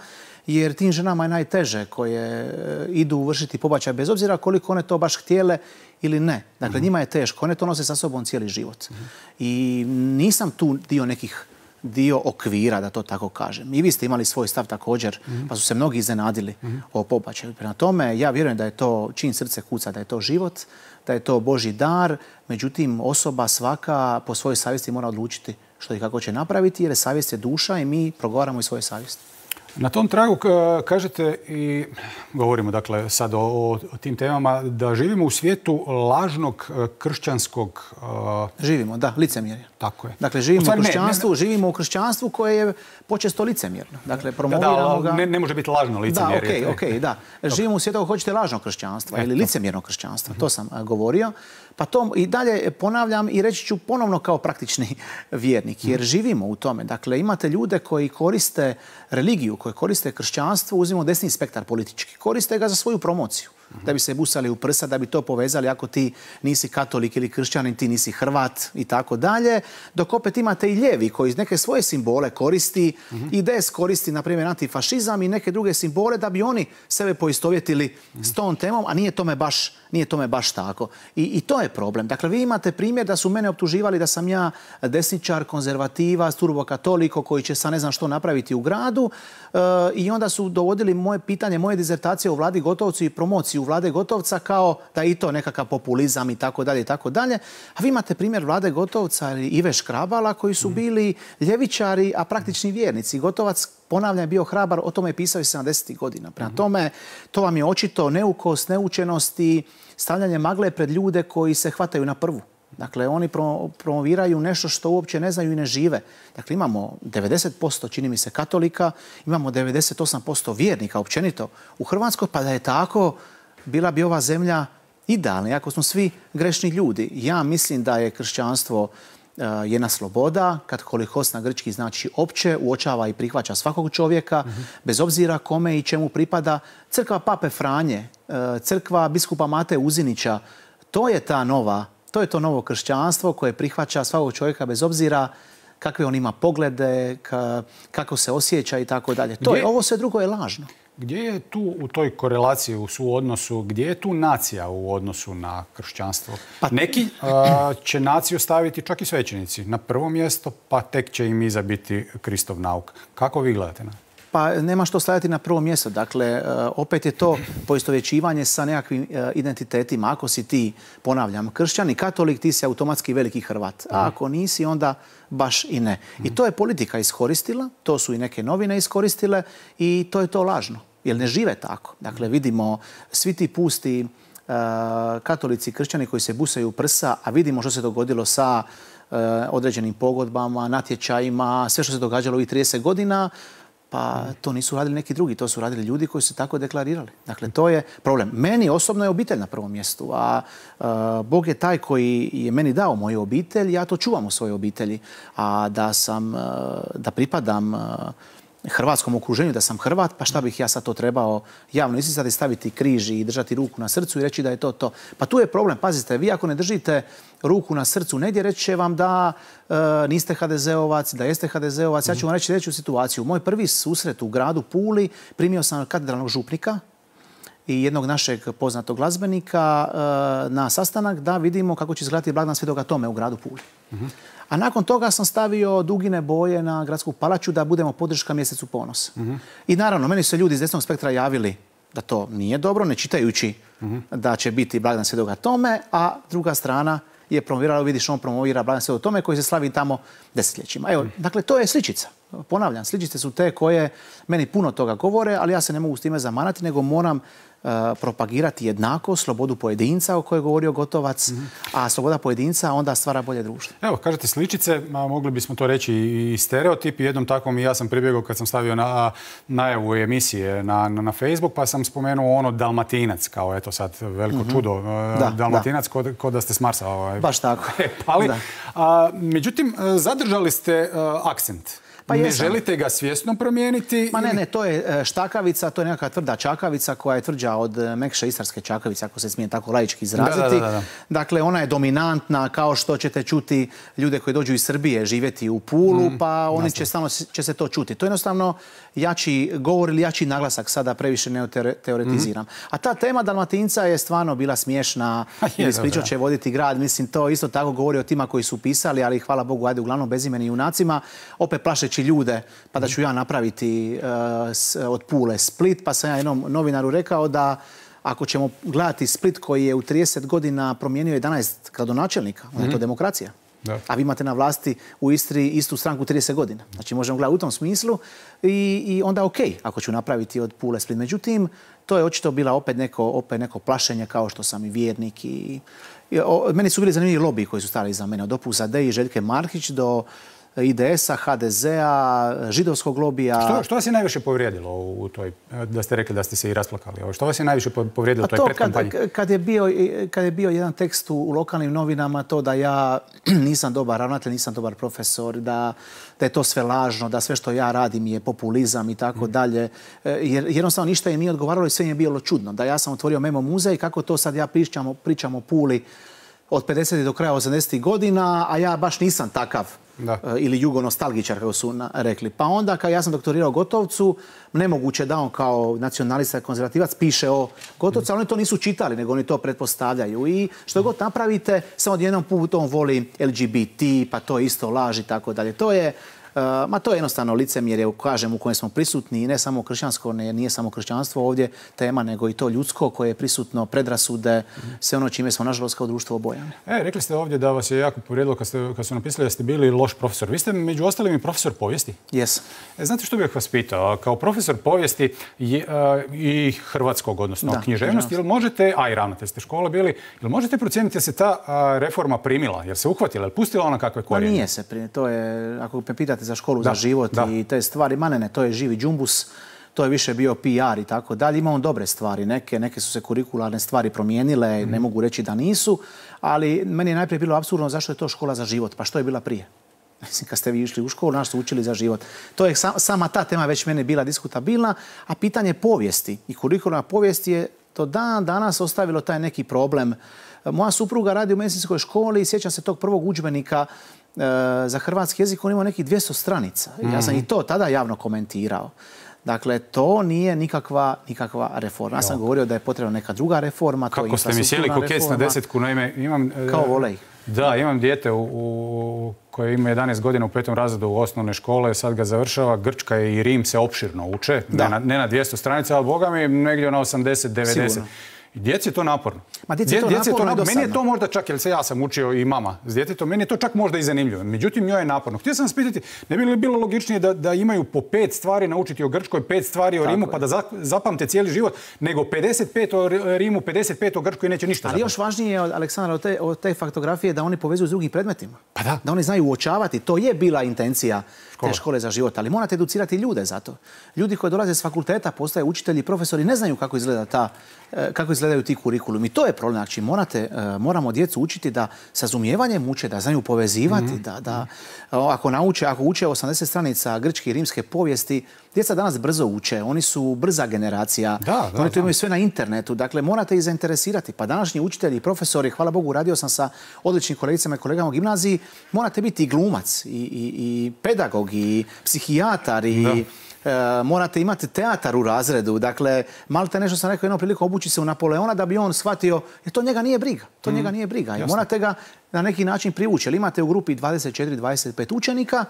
jer tim ženama je najteže koje idu vršiti pobačaj, bez obzira koliko one to baš htjele ili ne. Dakle, uh-huh. njima je teško. One to nose sa sobom cijeli život. Uh-huh. I nisam tu dio nekih dio okvira, da to tako kažem. I vi ste imali svoj stav također, mm-hmm. pa su se mnogi iznenadili mm-hmm. o pobačaju. Prema tome, ja vjerujem da je to, čim srce kuca, da je to život, da je to Božji dar, međutim, osoba svaka po svojoj savjesti mora odlučiti što i kako će napraviti, jer savjest je duša i mi progovaramo i svoje savjesti. Na tom tragu kažete i govorimo dakle sad o, o tim temama da živimo u svijetu lažnog kršćanskog... Uh... Živimo, da, licemjerja. Tako je. Dakle, živimo u kršćanstvu, ne, ne... živimo u kršćanstvu koje je počesto licemjerno. Dakle, promoviramo da, da, ga... Ne, ne može biti lažno licemjerje. Da, okej, okay, okay, da. Živimo u svijetu ako hoćete lažnog kršćanstva Eto. ili licemjernog kršćanstva. Mm-hmm. To sam uh, govorio. Pa to i dalje ponavljam i reći ću ponovno kao praktični vjernik, jer živimo u tome. Dakle, imate ljude koji koriste religiju, koji koriste kršćanstvo, uzmimo desni spektar politički, koriste ga za svoju promociju. Da bi se busali u prsa, da bi to povezali ako ti nisi katolik ili kršćanin, ti nisi Hrvat i tako dalje. Dok opet imate i lijevi koji neke svoje simbole koristi, mm-hmm. I D S koristi, na primjer, antifašizam i neke druge simbole da bi oni sebe poistovjetili mm-hmm. s tom temom, a nije tome baš, nije tome baš tako. I, I to je problem. Dakle, vi imate primjer da su mene optuživali da sam ja desničar, konzervativa, turbokatoliko koji će sa ne znam što napraviti u gradu e, i onda su dovodili moje pitanje, moje dizertacije o Vladi Gotovcu i promociju Vlade Gotovca kao da i to nekakav populizam i tako dalje i tako dalje. A vi imate primjer Vlade Gotovca i Ive Škrabala koji su bili ljevičari, a praktični vjernici. Gotovac, ponavljam, je bio hrabar, o tome je pisao i sedamdesetih godina. Prema tome, to vam je očito neukost, neučenost i stavljanje magle pred ljude koji se hvataju na prvu. Dakle, oni promoviraju nešto što uopće ne znaju i ne žive. Dakle, imamo devedeset posto, čini mi se, katolika, imamo devedeset osam posto vjernika općenito u Hrvatskoj, pa da je tako, bila bi ova zemlja idealna, iako smo svi grešni ljudi. Ja mislim da je kršćanstvo uh, jedna sloboda, katolikos na grčki znači opće, uočava i prihvaća svakog čovjeka, mm-hmm. bez obzira kome i čemu pripada. Crkva Pape Franje, uh, crkva biskupa Mate Uzinića, to je ta nova, to je to novo kršćanstvo koje prihvaća svakog čovjeka bez obzira kakve on ima poglede, ka, kako se osjeća i tako dalje. To je, ovo sve drugo je lažno. Gdje je tu u toj korelaciji, u suodnosu, gdje je tu nacija u odnosu na kršćanstvo? Pa... Neki uh, će naciju staviti čak i svećenici na prvo mjesto, pa tek će im iza biti Kristov nauk. Kako vi gledate na? Pa nema što staviti na prvo mjesto. Dakle, opet je to poistovjećivanje sa nekakvim identitetima. Ako si ti, ponavljam, kršćan i katolik, ti si automatski veliki Hrvat. A ako nisi, onda baš i ne. I to je politika iskoristila, to su i neke novine iskoristile i to je to lažno. Jer ne žive tako. Dakle, vidimo svi ti pusti uh, katolici, kršćani koji se busaju u prsa, a vidimo što se dogodilo sa uh, određenim pogodbama, natječajima, sve što se događalo ovih trideset godina, pa to nisu radili neki drugi, to su radili ljudi koji su tako deklarirali. Dakle, to je problem. Meni osobno je obitelj na prvom mjestu, a uh, Bog je taj koji je meni dao moju obitelj, ja to čuvam u svojoj obitelji. A da sam, uh, da pripadam uh, hrvatskom okruženju, da sam Hrvat, pa šta bih ja sad to trebao javno isticati, staviti križ i držati ruku na srcu i reći da je to to. Pa tu je problem. Pazite, vi ako ne držite ruku na srcu negdje, reći će vam da e, niste ha de zeovac, da jeste ha de zeovac. Ja ću vam reći sljedeću situaciju. Moj prvi susret u gradu Puli primio sam katedralnog župnika i jednog našeg poznatog glazbenika e, na sastanak da vidimo kako će izgledati blagdan Svetoga Tome u gradu Puli. Uh-huh. A nakon toga sam stavio dugine boje na gradsku palaču da budemo podrška mjesecu ponosa. Uh-huh. I naravno, meni su ljudi iz desnog spektra javili da to nije dobro, ne čitajući uh-huh. da će biti blagdan Svetoga Tome, a druga strana je promovirala, vidiš, on promovira blagdan Svetoga Tome koji se slavi tamo desetljećima. Evo, uh-huh. dakle, to je sličica. Ponavljam, sličice su te koje meni puno toga govore, ali ja se ne mogu s time zamanati, nego moram Uh, propagirati jednako, slobodu pojedinca o kojoj je govorio Gotovac, mm-hmm. a sloboda pojedinca onda stvara bolje društvo. Evo, kažete sličice, a mogli bismo to reći i stereotip. Jednom takvom i ja sam pribjegao kad sam stavio na najavu emisije na, na, na Facebook, pa sam spomenuo ono Dalmatinac, kao eto sad veliko mm-hmm. čudo. Uh, da, Dalmatinac, da. Ko, ko da ste s Marsa. Ovaj. Baš tako. Ali, da. A, međutim, zadržali ste uh, akcent. Pa ne želite ga svjesno promijeniti? Ma ne, ne, to je štakavica, to je nekakva tvrda čakavica koja je tvrđa jača od Mekše Istarske Čakovice, ako se smije tako laički izraziti. Da, da, da, da. Dakle, ona je dominantna, kao što ćete čuti ljude koji dođu iz Srbije živjeti u Pulu, mm, pa oni će, stalno, će se to čuti. To je jednostavno jači govor ili jači naglasak, sada previše ne teoretiziram. Mm-hmm. A ta tema Dalmatinca je stvarno bila smiješna, ispričat će voditi grad, mislim, to isto tako govori o tima koji su pisali, ali hvala Bogu, ajde, uglavnom bezimeni junacima, opet plašeći ljude, pa da ću ja napraviti uh, s, od Pule Split, pa sam ja jednom novinaru rekao da ako ćemo gledati Split koji je u trideset godina promijenio jedanaest gradonačelnika, onda je to demokracija. Da. A vi imate na vlasti u Istri istu stranku trideset godina. Znači možemo gledati u tom smislu i, i onda ok, ako ću napraviti od Pule Split. Međutim, to je očito bila opet neko, opet neko plašenje, kao što sam i vjernik. I, i o, meni su bili zanimljivi lobiji koji su stali iza mene. Od Opusa Dei i Željke Markić do I D S-a, H D Z-a, židovskog lobija. Što, što vas je najviše povrijedilo u toj, da ste rekli da ste se i rasplakali? Što vas je najviše povrijedilo u toj predkampanji? Kad, kad, je bio, kad je bio jedan tekst u, u lokalnim novinama, to da ja nisam dobar ravnatelj, nisam dobar profesor, da, da je to sve lažno, da sve što ja radim je populizam i tako mm. dalje. Jer jednostavno ništa im nije odgovaralo i sve im je bilo čudno. Da ja sam otvorio Memo muzej, kako to sad ja pričam, pričam o Puli od pedesetih do kraja osamdesetih godina, a ja baš nisam takav. Da. Ili jugonostalgičar, kako su rekli. Pa onda, kad ja sam doktorirao Gotovcu, nemoguće da on kao nacionalista i konzervativac piše o Gotovcu, ali oni to nisu čitali, nego oni to pretpostavljaju. I što god napravite, samo odjednom put on voli L G B T, pa to je isto laž i tako dalje. To je, uh, ma to je jednostavno licemjerje, kažem, u kojem smo prisutni, i ne samo kršćansko, ne, nije samo kršćanstvo ovdje tema, nego i to ljudsko koje je prisutno, predrasude, sve ono čime smo, nažalost, kao društvo obojani. E, rekli ste ovdje da vas je jako povrijedilo kad, ste, kad su napisali da ste bili loš profesor. Vi ste među ostalim i profesor povijesti? Jesam. E, znate što bih vas pitao? Kao profesor povijesti je, a, i hrvatskog, odnosno da, književnosti, jel možete, a i ravnatelj ste škole bili, jel možete procijeniti da se ta a, reforma primila? Jer se uhvatila, jel pustila ona kakve korijene? Pa nije se primila. To je, ako me pitate za školu, da, za život da. I te stvari, ma ne, ne, to je živi džumbus. To je više bio P R i tako dalje. Ima on dobre stvari. Neke, neke su se kurikularne stvari promijenile, mm. ne mogu reći da nisu, ali meni je najprije bilo apsurdno zašto je to škola za život. Pa što je bila prije? Mislim, kad ste vi išli u školu, naš su učili za život. To je sama ta tema već mene bila diskutabilna, a pitanje povijesti i kurikularna povijesti je to dan danas ostavilo taj neki problem. Moja supruga radi u medicinskoj školi i sjećam se tog prvog udžbenika e, za hrvatski jezik, on imao nekih dvjesto stranica. Mm. Ja sam i to tada javno komentirao. Dakle, to nije nikakva, nikakva reforma. Ja sam jo. govorio da je potrebna neka druga reforma. Kako to ste mi sjeli ko kec na desetku? Naime, imam, kao volej. Da, imam dijete u, u, koje ima jedanaest godina u petom razredu u osnovne škole, sad ga završava. Grčka i Rim se opširno uče, ne na, ne na dvjesto stranica, ali boga mi negdje na osamdeset devedeset. Sigurno. Djeci je to naporno. Ma djeci je to naporno, to naporno. Meni je to možda čak, jer se ja sam učio i mama s djetetom, meni je to čak možda i zanimljivo. Međutim, njoj je naporno. Htio sam vas pitati, ne bi li bilo logičnije da, da imaju po pet stvari naučiti o Grčkoj, pet stvari o Tako Rimu, je. pa da za, zapamte cijeli život, nego pedeset pet o Rimu, pedeset pet o Grčkoj i neće ništa. Ali zapamti. Još važnije je, Aleksandar, od te, od te faktografije da oni povezuju s drugim predmetima. Pa da. Da oni znaju uočavati. To je bila intencija te škole za život, ali morate educirati ljude za to. Ljudi koji dolaze s fakulteta, postaju učitelji, profesori, ne znaju kako izgleda ta, kako izgledaju ti kurikulumi. To je problem. Znači, morate, moramo djecu učiti da sa razumijevanjem uče, da znaju povezivati, mm-hmm. da, da ako nauče, ako uče osamdeset stranica grčke i rimske povijesti, djeca danas brzo uče, oni su brza generacija, da, da, oni to imaju sve na internetu, dakle morate ih zainteresirati. Pa današnji učitelji i profesori, hvala Bogu, radio sam sa odličnim kolegicama i kolegama u gimnaziji, morate biti i glumac, i, i, i pedagog, i psihijatar, i e, morate imati teatar u razredu. Dakle, malte nešto sam rekao jednom priliku, obući se u Napoleona da bi on shvatio, jer to njega nije briga. To mm. njega nije briga. I morate ga na neki način privući. Jer imate u grupi dvadeset četiri dvadeset pet učenika,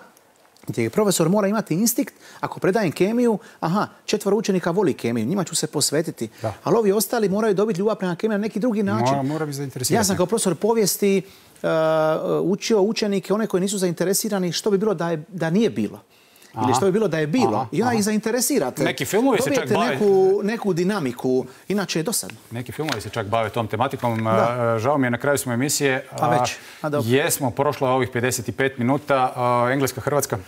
gdje profesor mora imati instinkt, ako predajem kemiju, aha, četvoro učenika voli kemiju, njima ću se posvetiti. Da. Ali ovi ostali moraju dobiti ljubav prema kemiji na neki drugi način. Mora, mora bi zainteresirati. Ja sam kao profesor povijesti uh, učio učenike, one koji nisu zainteresirani, što bi bilo da, je, da nije bilo. Aha. Ili što bi bilo da je bilo. Aha. I onda ih zainteresirate. Neki filmovi se čak bave... neku, neku dinamiku, inače je dosadno. Neki filmovi se čak bave tom tematikom. Da. Žao mi je, na kraju smo emisije. A već. A dobro. Jesmo, prošlo je ovih pedeset pet minuta. Engleska, Hrvatska?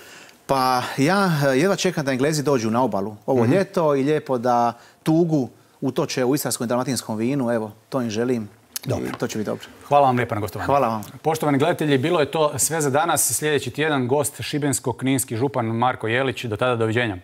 Pa ja jedva čekam da Englezi dođu na obalu ovo mm-hmm. ljeto i lijepo da tugu utoče u istarskom i dalmatinskom vinu. Evo, to im želim. Dobro. To će biti dobro. Hvala vam lijepo na gostovanju. Hvala vam. Poštovani gledatelji, bilo je to sve za danas. Sljedeći tjedan gost šibensko-kninski župan Marko Jelić. Do tada, doviđenja.